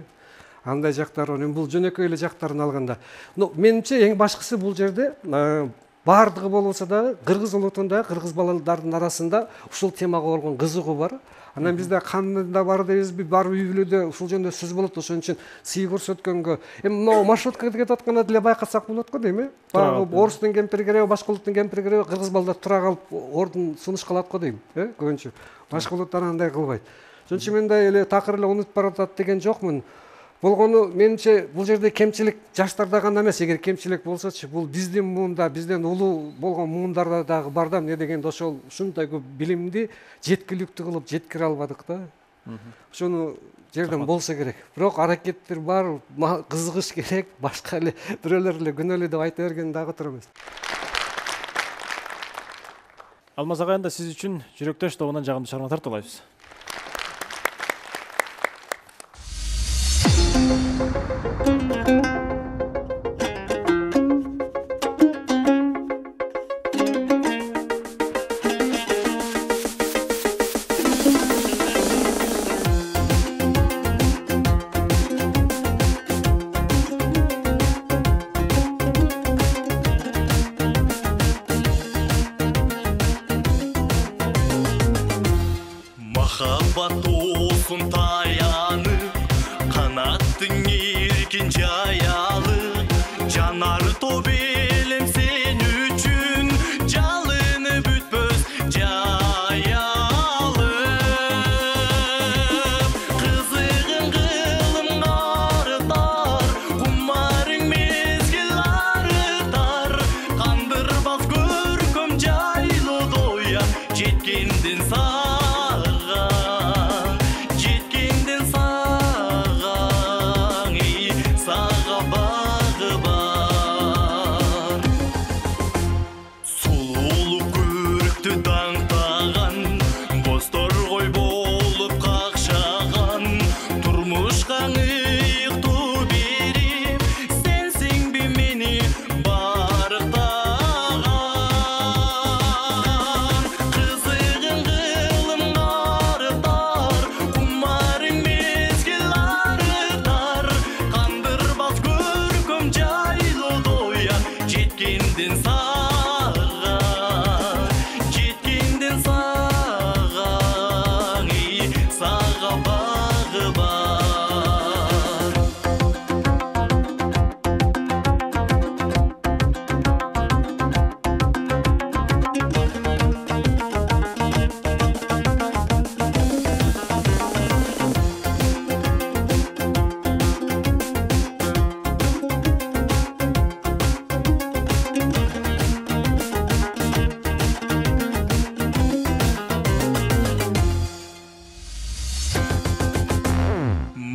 F: Андай жактар бар. Бул жөнөкөй эле жактарын алганда. Менимче эң башкысы бул жерде баардыгы болбосо да кыргыз улутунда, кыргыз балдардын арасында ушул темага болгон кызыгуу бар. Анан бизде кандай бар дейбизби, бар үй бүлөдө ушул жөнүндө сөз болот. Ошон үчүн сый көрсөткөнгө эми могу маршруткага кетип атканда деле байкасак болот го дейм, Баягы орустун кемпири керек, башка улуттун кемпири керек, кыргыз балдар тура калып ордун сунуш калат го дейм, көбүнчө. Башка улуттар андай кылбайт. Ошон үчүн мен да эле такыр эле унутуп баратат деген жокмун. Болгону менимче бул жерде кемчилик жаштарда гана эмес, эгер кемчилик болсочу, бул биздин муунда, бизден улуу болгон муундарда дагы бар да. Эмне дегенде ошол ушундай көп билимди жеткиликтүү кылып жеткире албадык да. Ошону жерден болсо керек. Бирок аракеттер бар, кызыгыш керек, башка эле бирөөлөр эле күнөөлүү деп айта берген дагы туура эмес.
A: Алмаз агайында сиз үчүн жүрөктөш тобунан жагымдуу чыгарма тартуулайбыз.
H: Махаббат olsun таянып, канаттың эркин жаялып, жанар топ элем сен үчүн, жалыны бүтпөс жаялып. Кызыгың кылым артар, кумарың мезгил арытар, кандырбас көркөм жайлы доя, жеткендин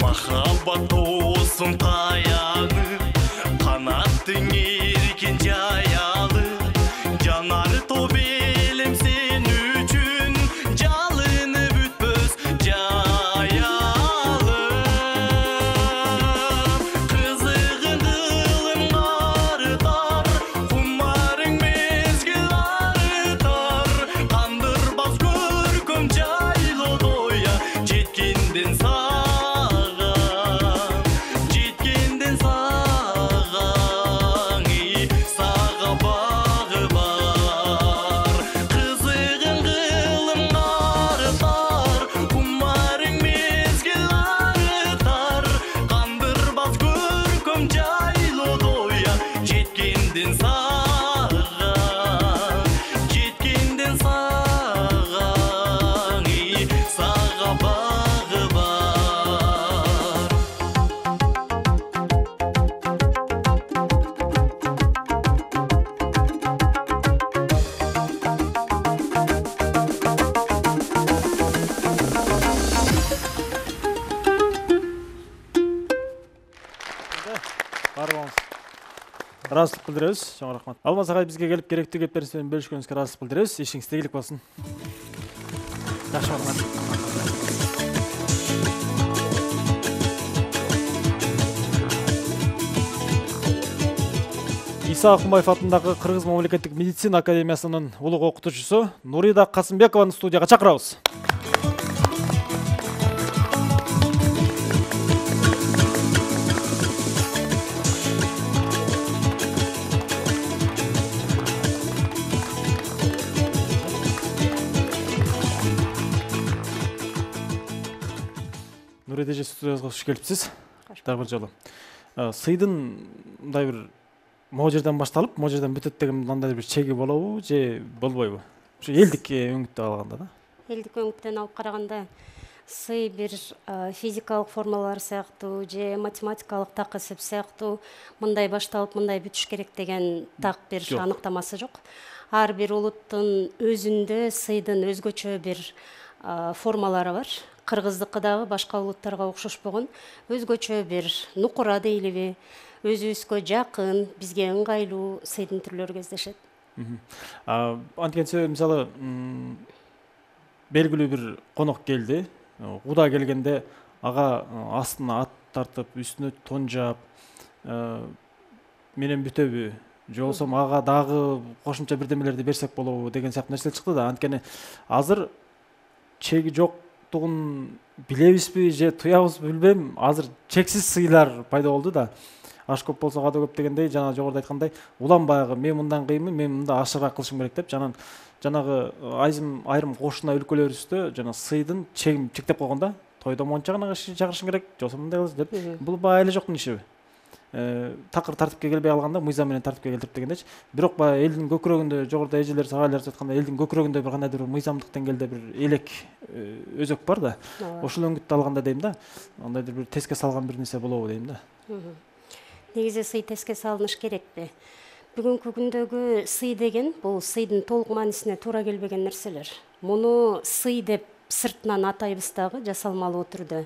H: Махаббат olsun таянып, канаттың эркин жаялып, жанар топ элем сен үчүн, жалыны бүтпөс жаялып. Кызыгың кылым артар, кумарың мезгил арытар, кандырбас көркөм жайлы доя, жеткенден
A: ыраазычылык билдиребиз. Чоң рахмат. Алмаз агай бизге келип керектүү кептериңиз менен бөлүшкөнүңүзгө ыраазычылык билдиребиз. Ишиңиз тийгилик болсун. Жакшы болмак. Иса Акунбаев атындагы Кыргыз мамлекеттик медицина академиясынын улуг окутуучусу Нурида Касымбекованы студияга чакырабыз. Нурида эже студиябызга кош келипсиз. Дагы бир жолу. Сыйдын мындай бир могу жерден башталып, могу жерден бүтөт деген мындай бир чеги болобу же болбойбу? Ушу элдик өңүттөн алганда да.
I: Элдик өңүттөн алып караганда сый бир физикалык формалар сыяктуу же математикалык так эсеп сыяктуу мындай башталып мындай бүтүш керек деген так бир аныктамасы жок. Ар бир улуттун өзүндө сыйдын өзгөчө бир формалары бар. Кыргыздыкы дагы башка улуттарга окшошпогон өзгөчө бир нукура дейлиби, өзүбүзгө жакын, бизге ыңгайлуу сыйдын түрлөрү кездешет.
A: Анткени мисалы белгилүү бир конок келди. Куда келгенде ага астына ат тартып, үстүнө тон жаап, менен бүтөбү? Же болбосо ага дагы кошумча бирдемелерди берсек болобу деген сыяктуу нерселер чыкты да. Анткени азыр чеги жоктугун билебизби же туябызбы билбейм. Азыр чексиз сыйлар пайда болду да. Аш көп болсо када көп дегендей, жана жогоруда айткандай, улам баягы мен мындан кыйынмын, мен мында ашыгыраак кылышым керек деп, жанагы айрым кошуна өлкөлөрүбүздө жана сыйдын чегин чектеп койгон да. Тойдо монча гана киши чакырышың керек, же болбосо мындай кыласың деп. Бул баягы эле жоктун ишиби? Такыр тартипке келбей калганда мыйзам менен тартипке келтирип дегендечи. Бирок баягы элдин көкүрөгүндө, жогоруда эжелер, сагайлар айткандай, элдин көкүрөгүндө бир кандайдыр мыйзамдык деңгээлде бир элек өзөк бар да. Ошол өңүттү алганда дейм да, андайдыр бир теске салган бир нерсе болобу дейм да.
I: Негизи сый теске салыныш керекпи? Бүгүнкү күндөгү сый деген бул сыйдын толук маанисине туура келбеген нерселер. Муну сый деп сыртынан атайбыз дагы жасалмалуу түрдө.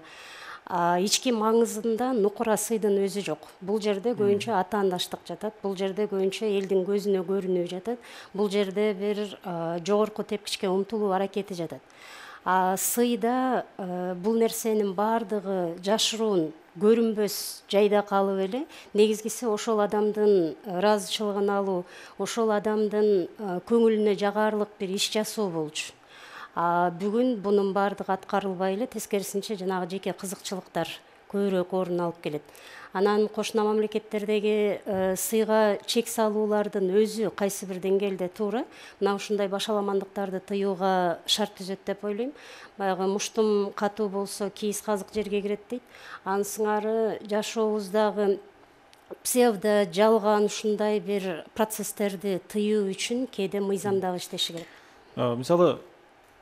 I: Ички маңызында нукура сыйдын өзү жок. Бул жерде көбүнчө атаандаштык жатат, бул жерде көбүнчө элдин көзүнө көрүнүү жатат, бул жерде бир жогорку тепкичке умтулуу аракети жатат. Сыйда бул нерсенин баардыгы жашыруун, көрүнбөс жайда калып эле, негизгиси ошол адамдын ыраазычылыгын алуу, ошол адамдын көңүлүнө жагаарлык бир иш жасоо болчу. Бүгүн бунун баардыгы аткарылбай эле, тескерисинче жанагы жеке кызыкчылыктар көбүрөөк орун алып келет. Анан кошуна мамлекеттердеги сыйга чек салуулардын өзү кайсы бир деңгээлде туура. Мына ушундай башаламандыктарды тыюуга шарт түзөт деп ойлойм. Баягы муштум катуу болсо кийиз казык жерге кирет дейт. Анын сыңары жашообуздагы псевдо, жалган ушундай бир процесстерди тыюу үчүн кээде мыйзам дагы иштеши керек.
A: Мисалы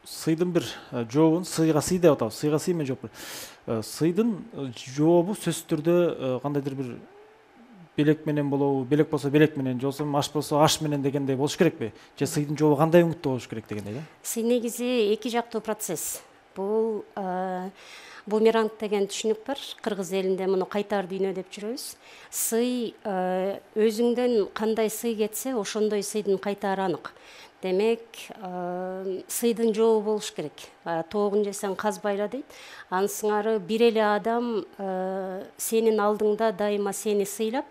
A: сыйдын бир жообун, сыйга сый деп атабыз, сыйга сый менен жооп. Сыйдын жообу сөзсүз түрдө кандайдыр бир белек менен болобу, белек болсо белек менен, же болбосо аш болсо аш менен дегендей болуш керекпи? Же сыйдын жообу кандай өңүттө болуш керек дегендей да?
I: Сый негизи эки жактуу процесс. Бул бумеранг деген түшүнүк бар. Кыргыз элинде муну кайтар дүйнө деп жүрөбүз. Сый өзүңдөн кандай сый кетсе, ошондой сыйдын кайтары анык. Демек, сыйдын жообу болуш керек. Тоогун жесең казбайла дейт. Анын сыңары бир эле адам сенин алдыңда дайыма сени сыйлап,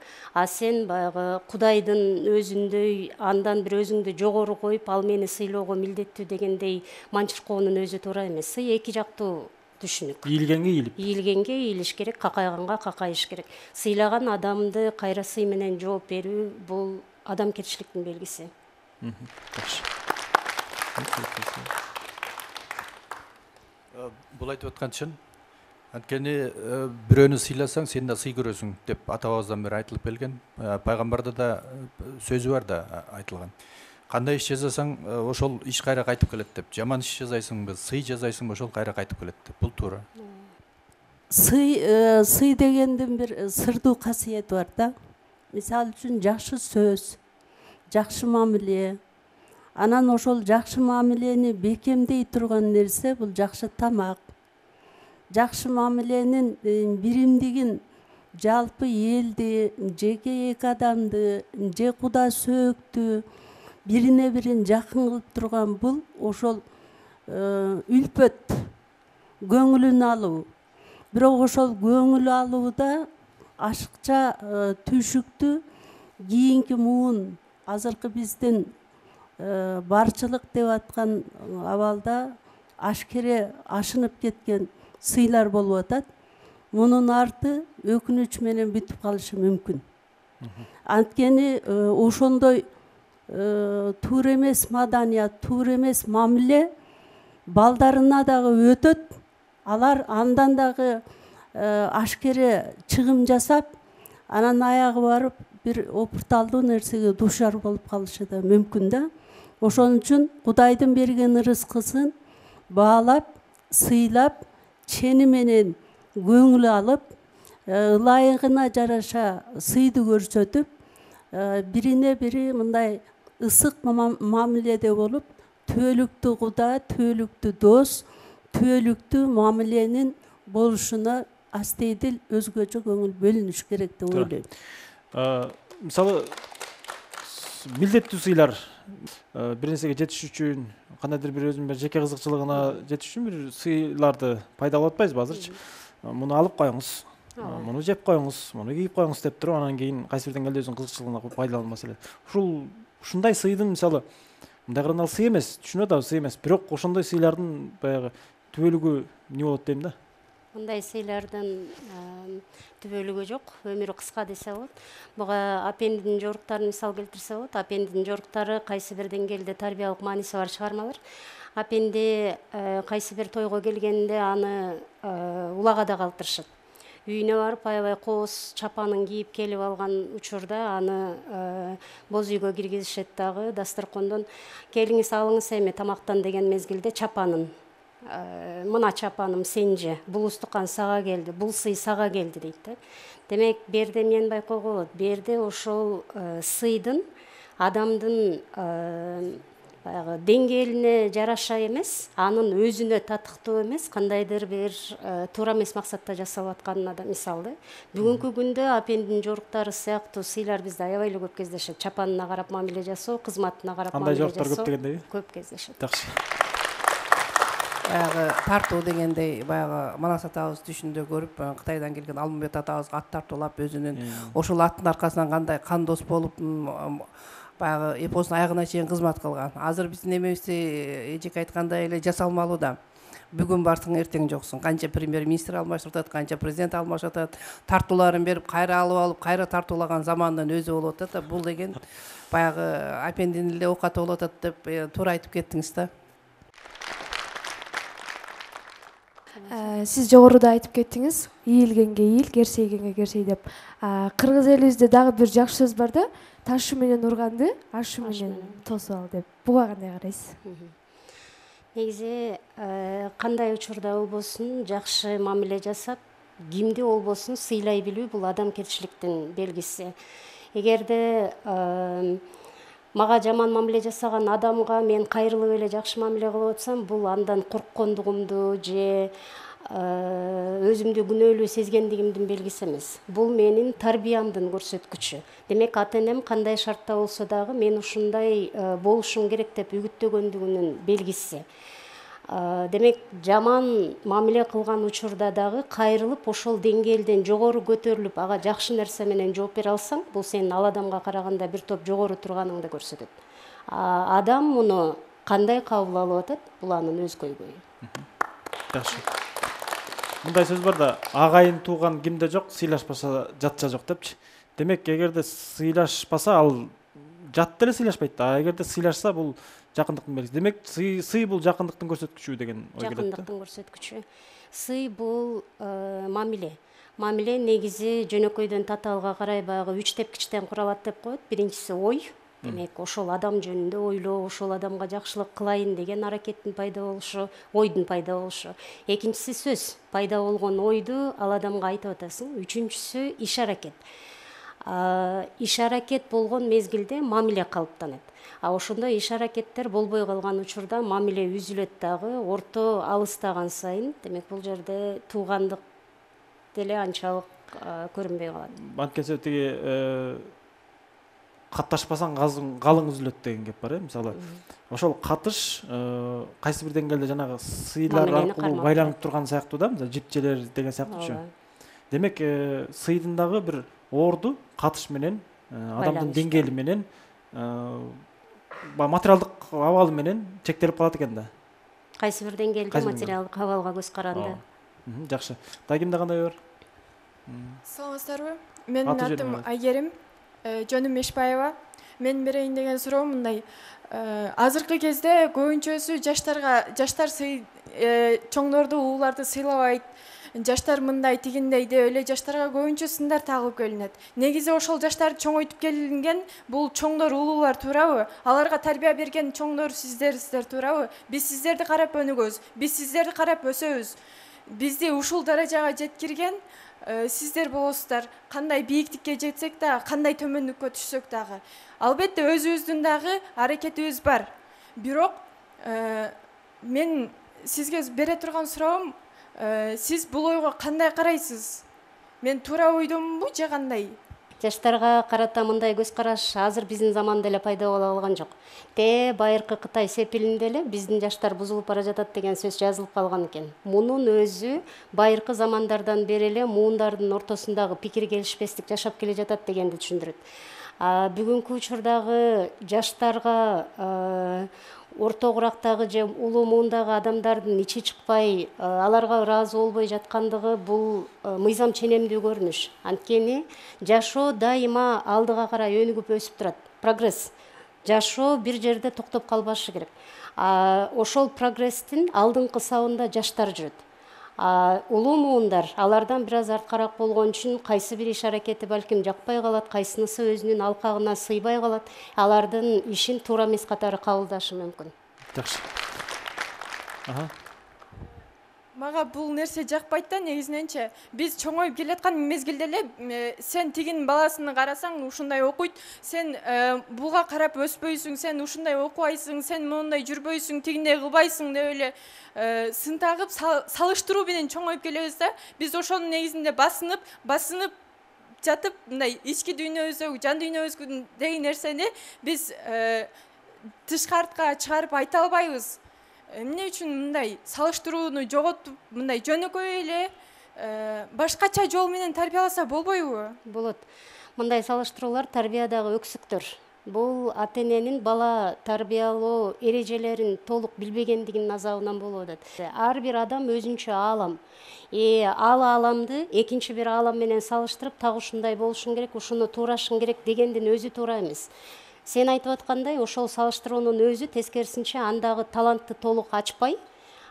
I: сен баягы Кудайдын өзүндөй андан бир өзүңдү жогору коюп, ал мени сыйлоого милдеттүү дегендей манчыркоонун өзү туура эмес. Сый эки жактуу түшүнүк. Ийилгенге ийилиш керек, какайганга какайыш керек. Сыйлаган адамды кайра сый менен жооп берүү бул адамгерчиликтин белгиси.
C: Бул айтып аткан чын. Анткени бирөөнү сыйласаң, сен да сый көрөсүң деп ата-бабаздан бери айтылып келген. Пайгамбарда да сөзү бар да айтылган. Кандай иш жасасаң, ошол иш кайра кайтып келет деп. Жаман иш жасайсыңбы, сый жасайсыңбы, ошол кайра кайтып келет деп. Бул туура.
D: Сый дегендин бир сырдуу касиети бар да. Мисалы үчүн жакшы сөз, жакшы мамиле. Анан ошол жакшы мамилени бекемдей турган нерсе бул жакшы тамак. Жакшы мамиленин биримдигин жалпы элди, жеке эки адамды, же куда сөөктү бирине бирин жакын кылып турган бул ошол үлпөт, көңүлүн алуу. Бирок ошол көңүл алууда ашыкча түйшүктү кийинки муун азыркы биздин барчылык деп аткан абалда ашкере ашынып кеткен сыйлар болуп атат. Мунун арты өкүнүч менен бүтүп калышы мүмкүн. Анткени ошондой туура эмес маданият, туура эмес мамиле балдарына дагы өтөт. Алар андан дагы ашкере чыгым жасап, анан аягы барып бир опурталдуу нерсеге дуушар болуп калышы да мүмкүн да. Ошон үчүн Кудайдын берген ырыскысын баалап, сыйлап, чени менен көңүл алып, ылайыгына жараша сыйды көрсөтүп, бирине бири мындай ысык мамиледе болуп, түбөлүктүү Куда, түбөлүктүү дос, түбөлүктүү мамиленин болушуна астейдил өзгөчө көңүл бөлүнүш керек деп ойлойм.
A: Мисалы милдеттүү сыйлар бир нерсеге жетиш үчүн, кандайдыр бир өзүнүн жеке кызыкчылыгына жетиш үчүн бир сыйларды пайдалап атпайсызбы азырчы? Муну алып коюңуз, муну жеп коюңуз, муну кийип коюңуз деп туруп, анан кийин кайсы бир деңгээлде өзүнүн кызыкчылыгына пайдалануу маселе. Ушундай сыйдын мисалы мындай кырганда сый эмес, түшүнүп атабыз, сый эмес, бирок ошондой сыйлардын баягы түбөлүгү эмне болот дейм да?
I: Мындай сыйлардын түбөлүгү жок, өмүрү кыска десе болот. Буга апендин жоруктарын мисал келтирсе болот. Апендин жоруктары кайсы бир деңгээлде тарбиялык мааниси бар чыгармалар. Апенди кайсы бир тойго келгенде аны улагада калтырышат. Үйүнө барып аябай кооз чапанын кийип келип алган учурда аны боз үйгө киргизишет дагы дасторкондон келиңиз алыңыз эми тамактан деген мезгилде чапанын мына чапаным сенже, бул устукан сага келди, бул сый сага келди дейт да. Демек, берде мен байкоого болот. Берде ошол сыйдын адамдын баягы деңгээлине жараша эмес, анын өзүнө татыктуу эмес, кандайдыр бир туура эмес максатта жасалып атканына да мисал да. Бүгүнкү күндө апендин жоруктары сыяктуу сыйлар бизде аябай эле көп кездешет. Чапанына карап мамиле жасоо, кызматына карап мамиле жасоо.
A: Андай жоруктар көп дегендеби?
I: Көп кездешет.
A: Жакшы.
E: Баягы тартуу дегендей, баягы Манас атабыз түшүндө көрүп, Кытайдан келген Алмамбет атабызга ат тартуулап өзүнүн ошол аттын аркасынан кандай кандос болуп баягы эпостун аягына чейин кызмат кылган. Азыр биздин эмебизди эжеке айткандай эле жасалмалуу да. Бүгүн барсаң эртең жоксуң. Канча премьер-министр алмашып атат, канча президент алмашып атат. Тартууларын берип, кайра алып, кайра тартуулаган замандын өзү болуп атат да. Бул деген баягы апендин эле оокаты болуп атат деп туура айтып кеттиңиз да.
J: Сиз жогоруда айтып кеттиңиз, ийилгенге ийил, керсейгенге керсей деп. Кыргыз элибизде дагы бир жакшы сөз бар да, ташы менен урганды ашы менен тосуп ал деп. Буга кандай карайсыз?
I: Негизи кандай учурда болбосун жакшы мамиле жасап, кимди болбосун сыйлай билүү бул адамгерчиликтин белгиси. Эгерде мага жаман мамиле жасаган адамга мен кайрылып эле жакшы мамиле кылып атсам, бул андан корккондугумду же өзүмдү күнөөлүү сезгендигимдин белгиси эмес. Бул менин тарбиямдын көрсөткүчү. Демек, ата-энем кандай шартта болсо дагы мен ушундай болушум керек деп үгүттөгөндүгүнүн белгиси. Демек, жаман мамиле кылган учурда дагы кайрылып, ошол деңгээлден жогору көтөрүлүп, ага жакшы нерсе менен жооп бере алсаң, бул сенин ал адамга караганда бир топ жогору турганыңды көрсөтөт. Адам муну кандай кабыл алып атат, бул анын өз көйгөйү.
A: Жакшы. Мындай сөз бар да, агайын тууган кимде жок, сыйлашпаса жатча жок депчи. Демек, эгерде сыйлашпаса, ал жат деле сыйлашпайт да. Эгерде сыйлашса, бул жакындыктын белгиси. Демек, сый бул жакындыктын көрсөткүчү деген ой келет да.
I: Жакындыктын көрсөткүчү. Сый бул мамиле. Мамиле негизи жөнөкөйдөн татаалга карай баягы 3 тепкичтен куралат деп коет. Биринчиси ой. Демек, ошол адам жөнүндө ойлоо, ошол адамга жакшылык кылайын деген аракеттин пайда болушу, ойдун пайда болушу. Экинчиси сөз. Пайда болгон ойду ал адамга айтып атасың. Үчүнчүсү иш аракет. Иш аракет болгон мезгилде мамиле калыптанат. Ошондо иш аракеттер болбой калган учурда мамиле үзүлөт дагы, орто алыстаган сайын, демек бул жерде туугандык деле анчалык көрүнбөй калат.
A: Анткени тиги катташпасаң калың үзүлөт деген кеп бар, мисалы. Ошол катыш кайсы бир деңгээлде жанагы сыйлар аркылуу байланып турган сыяктуу да, мисалы жипчелер деген сыяктуучу. Демек, сыйдын дагы бир орду катыш менен, адамдын деңгээли менен, материалдык абалы менен чектелип калат экен да.
I: Кайсы бир деңгээлде материалдык абалга көз каранды.
A: Жакшы. Кимде кандай бар?
K: Саламатсыздарбы? Менин атым Айгерим, жөнүм Мешбаева. Менин берейин деген суроо мындай. Азыркы кезде көбүнчөсү жаштар чоңдорду, улууларды сыйлабайт. Жаштар мындай тигиндей деп эле жаштарга көбүнчө сындар тагылып келинет. Негизи ошол жаштарды чоңойтуп келинген бул чоңдор, улуулар туурабы? Аларга тарбия берген чоңдор сиздер туурабы? Биз сиздерди карап өнүгөбүз, биз сиздерди карап өсөбүз. Бизди ушул даражага жеткирген сиздер болосуздар. Кандай бийиктикке жетсек да, кандай төмөндүккө түшсөк дагы. Албетте өзүбүздүн дагы аракетибиз бар. Бирок мен сизге бере турган суроом, сиз бул ойго кандай карайсыз? Мен туура ойдомунбу же кандай?
I: Жаштарга карата мындай көз караш азыр биздин заманда эле пайда боло калган жок. Байыркы Кытай сепилинде эле биздин жаштар бузулуп бара жатат деген сөз жазылып калган экен. Мунун өзү байыркы замандардан бери эле муундардын ортосундагы пикир келишпестик жашап келе жатат дегенди түшүндүрөт. Бүгүнкү учурдагы жаштарга орто курактагы же улуу муундагы адамдардын ичи чыкпай, аларга ыраазы болбой жаткандыгы бул мыйзам ченемдүү көрүнүш. Анткени жашоо дайыма алдыга карай өнүгүп өсүп турат. Прогресс. Жашоо бир жерде токтоп калбашы керек. Ошол прогресстин алдыңкы сабында жаштар жүрөт. Улуу муундар алардан бир аз арткараак болгон үчүн кайсы бир иш аракети балким жакпай калат, кайсынысы өзүнүн алкагына сыйбай калат. Алардын ишин туура эмес катары кабылдашы мүмкүн.
A: Жакшы.
K: Мага бул нерсе жакпайт да, негизиненчи. Биз чоңоюп келаткан мезгилде эле сен тигин баласыны карасаң ушундай окуйт, сен буга карап өспөйсүң, сен ушундай окубайсың, сен моундай жүрбөйсүң, тигиндей кылбайсың деп эле сын тагып салыштыруу менен чоңоюп келебиз да. Биз ошонун негизинде басынып жатып, мындай ички дүйнөбүздөгү, жан дүйнөбүздөгү деген нерсени биз тышкартка чыгарып айта албайбыз. Эмне үчүн мындай салыштырууну жоготуп, мындай жөнөкөй эле башкача жол менен тарбияласа болбойбу?
I: Болот. Мындай салыштыруулар тарбиядагы өксүктөр. Бул ата-эненин бала тарбиялоо эрежелерин толук билбегендигинин азабынан болуп атат. Ар бир адам өзүнчө аалам. Ал ааламды экинчи бир аалам менен салыштырып, так ушундай болушуң керек, ушуну туурашың керек дегендин өзү туура эмес. Сен айтып аткандай, ошол салыштыруунун өзү тескерисинче андагы талантты толук ачпай,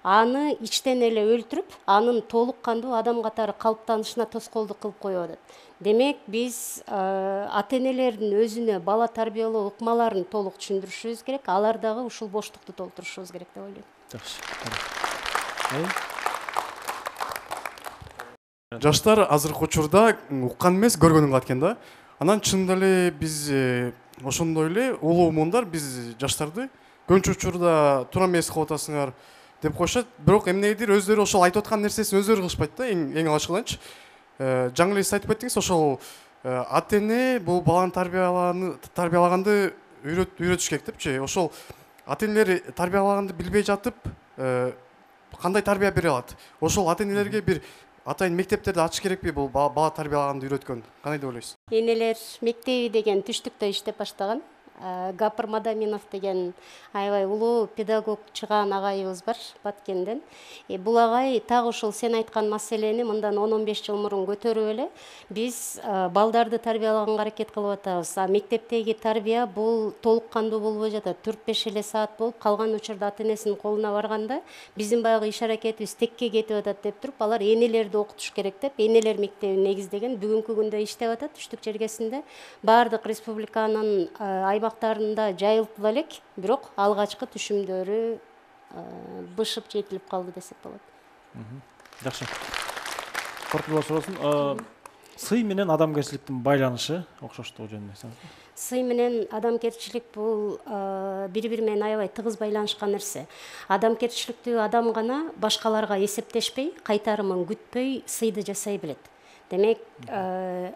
I: аны ичтен эле өлтүрүп, анын толук кандуу адам катары калыптанышына тоскоолдук кылып коюп атат. Демек, биз ата-энелердин өзүнө бала тарбиялоо ыкмаларын толук түшүндүрүшүбүз керек, алар дагы ушул боштукту толтурушубуз керек деп ойлойм.
A: Жакшы.
G: Жаштар азыркы учурда уккан эмес, көргөнүн кылат экен да. Анан чынында эле биз ошондой эле улуу муундар биз жаштарды көбүнчө учурда туура эмес кылып атасыңар деп коюшат. Бирок эмнегедир өздөрү ошол айтып аткан нерсесин өздөрү кылышпайт да. Эң алгачкыданчы жаңы эле сиз айтып кеттиңиз, ошол ата-эне бул баланы тарбиялаганды үйрөтүш керек депчи. Ошол ата-энелер тарбиялаганды билбей жатып кандай тарбия бере алат? Ошол ата-энелерге бир атайын мектептерди ачыш керекпи бул бала тарбиялаганды үйрөткөн? Кандай деп ойлойсуз?
I: Энелер мектеби деген түштүктө иштеп баштаган. Гапыр Мадаминов деген аябай улуу педагог чыгаан агайыбыз бар Баткенден. Бул агай так ушул сен айткан маселени мындан 10-15 жыл мурун көтөрүп эле биз балдарды тарбиялаганга аракет кылып атабыз. Мектептеги тарбия бул толук кандуу болбой жатат. 4-5 эле саат болуп, калган учурда ата-энесинин колуна барганда биздин баягы иш аракетибиз текке кетип атат деп туруп, алар энелерди окутуш керек деп, энелер мектебин негиздеген бүгүнкү күндө иштеп атат Түштүк жергесинде. Баардык республиканын аймактарында жайылып элек, бирок алгачкы түшүмдөрү бышып жетилип калды десек болот.
A: Жакшы. Кортулар суроосун. Сый менен адамгерчиликтин байланышы окшоштугу жөнүндө айтсаңыз.
I: Сый менен адамгерчилик бул бири-бири менен аябай тыгыз байланышкан нерсе. Адамгерчиликтүү адам гана башкаларга эсептешпей, кайтарымын күтпөй сыйды жасай билет. Демек,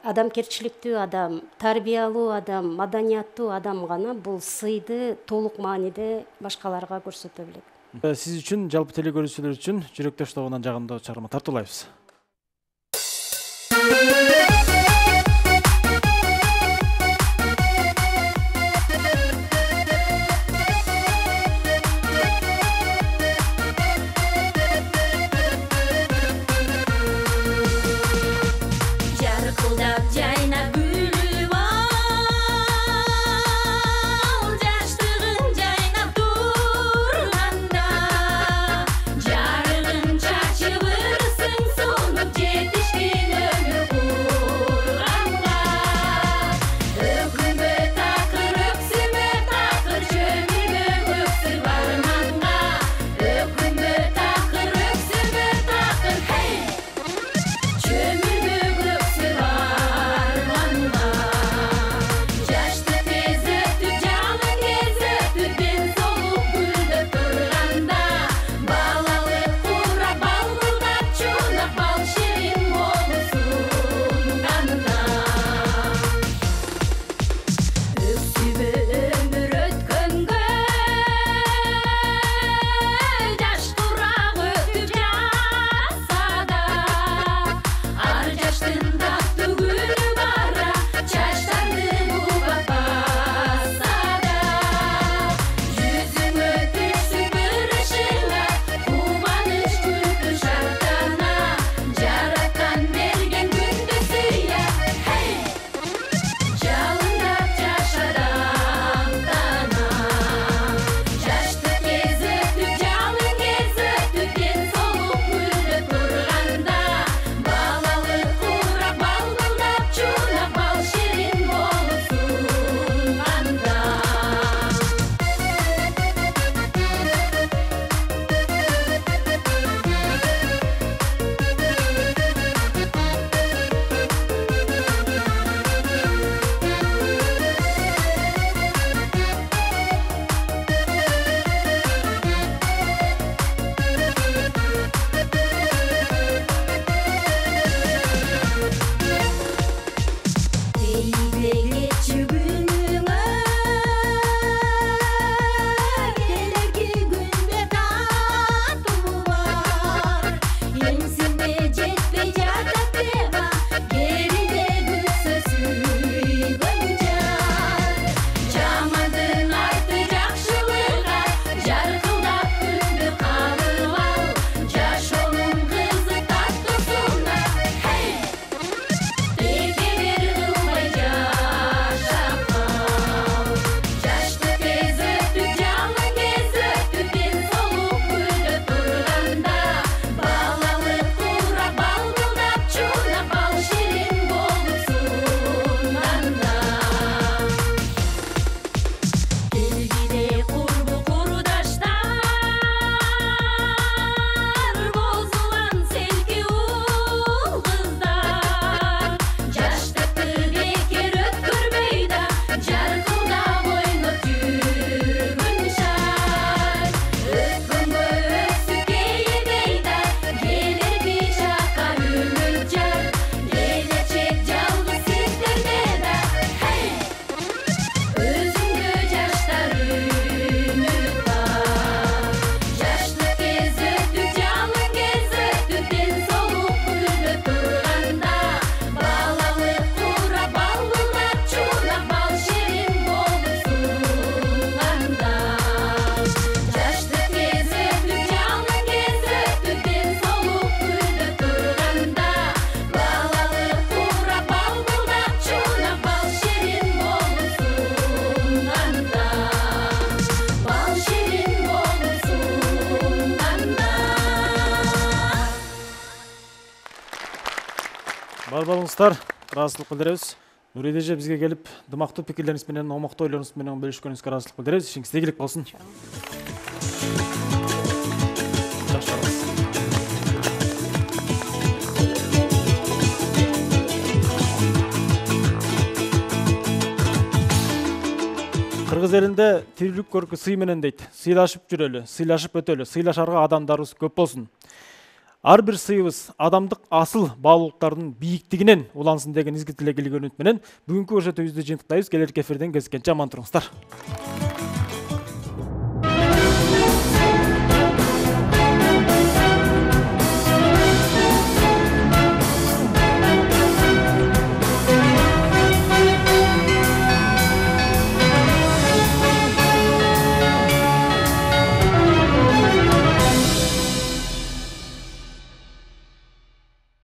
I: адамгерчиликтүү адам, тарбиялуу адам, маданияттуу адам гана бул сыйды толук мааниде башкаларга көрсөтө билет.
A: Сиз үчүн, жалпы телекөрүүчүлөр үчүн жүрөктөш тобунан жагымдуу чыгарма тартуулайбыз.
L: Жарыгын чачып ырсың, сонуп жетишкен өмүр
A: Сау болуңуздар, ыраазычылык билдиребиз. Нури эже бизге келип, дымактуу пикирлериңиз менен, омоктуу ойлоруңуз менен бөлүшкөнүңүзгө ыраазычылык билдиребиз. Ишиңиз ийгилик болсун. Кыргыз элинде тирүүлүк көркү сый менен дейт. Сыйлашып жүрөлү, сыйлашып өтөлү, сыйлашарга адамдарыбыз көп болсун. Ар бир сыйыбыз адамдык асыл баалуулуктардын бийиктигинен улансын деген изги тилек илгөө үмүт менен бүгүнкү көрсөтүүбүздү жыйынтыктайбыз. Келерки эфирден кезишкенче аман туруңуздар.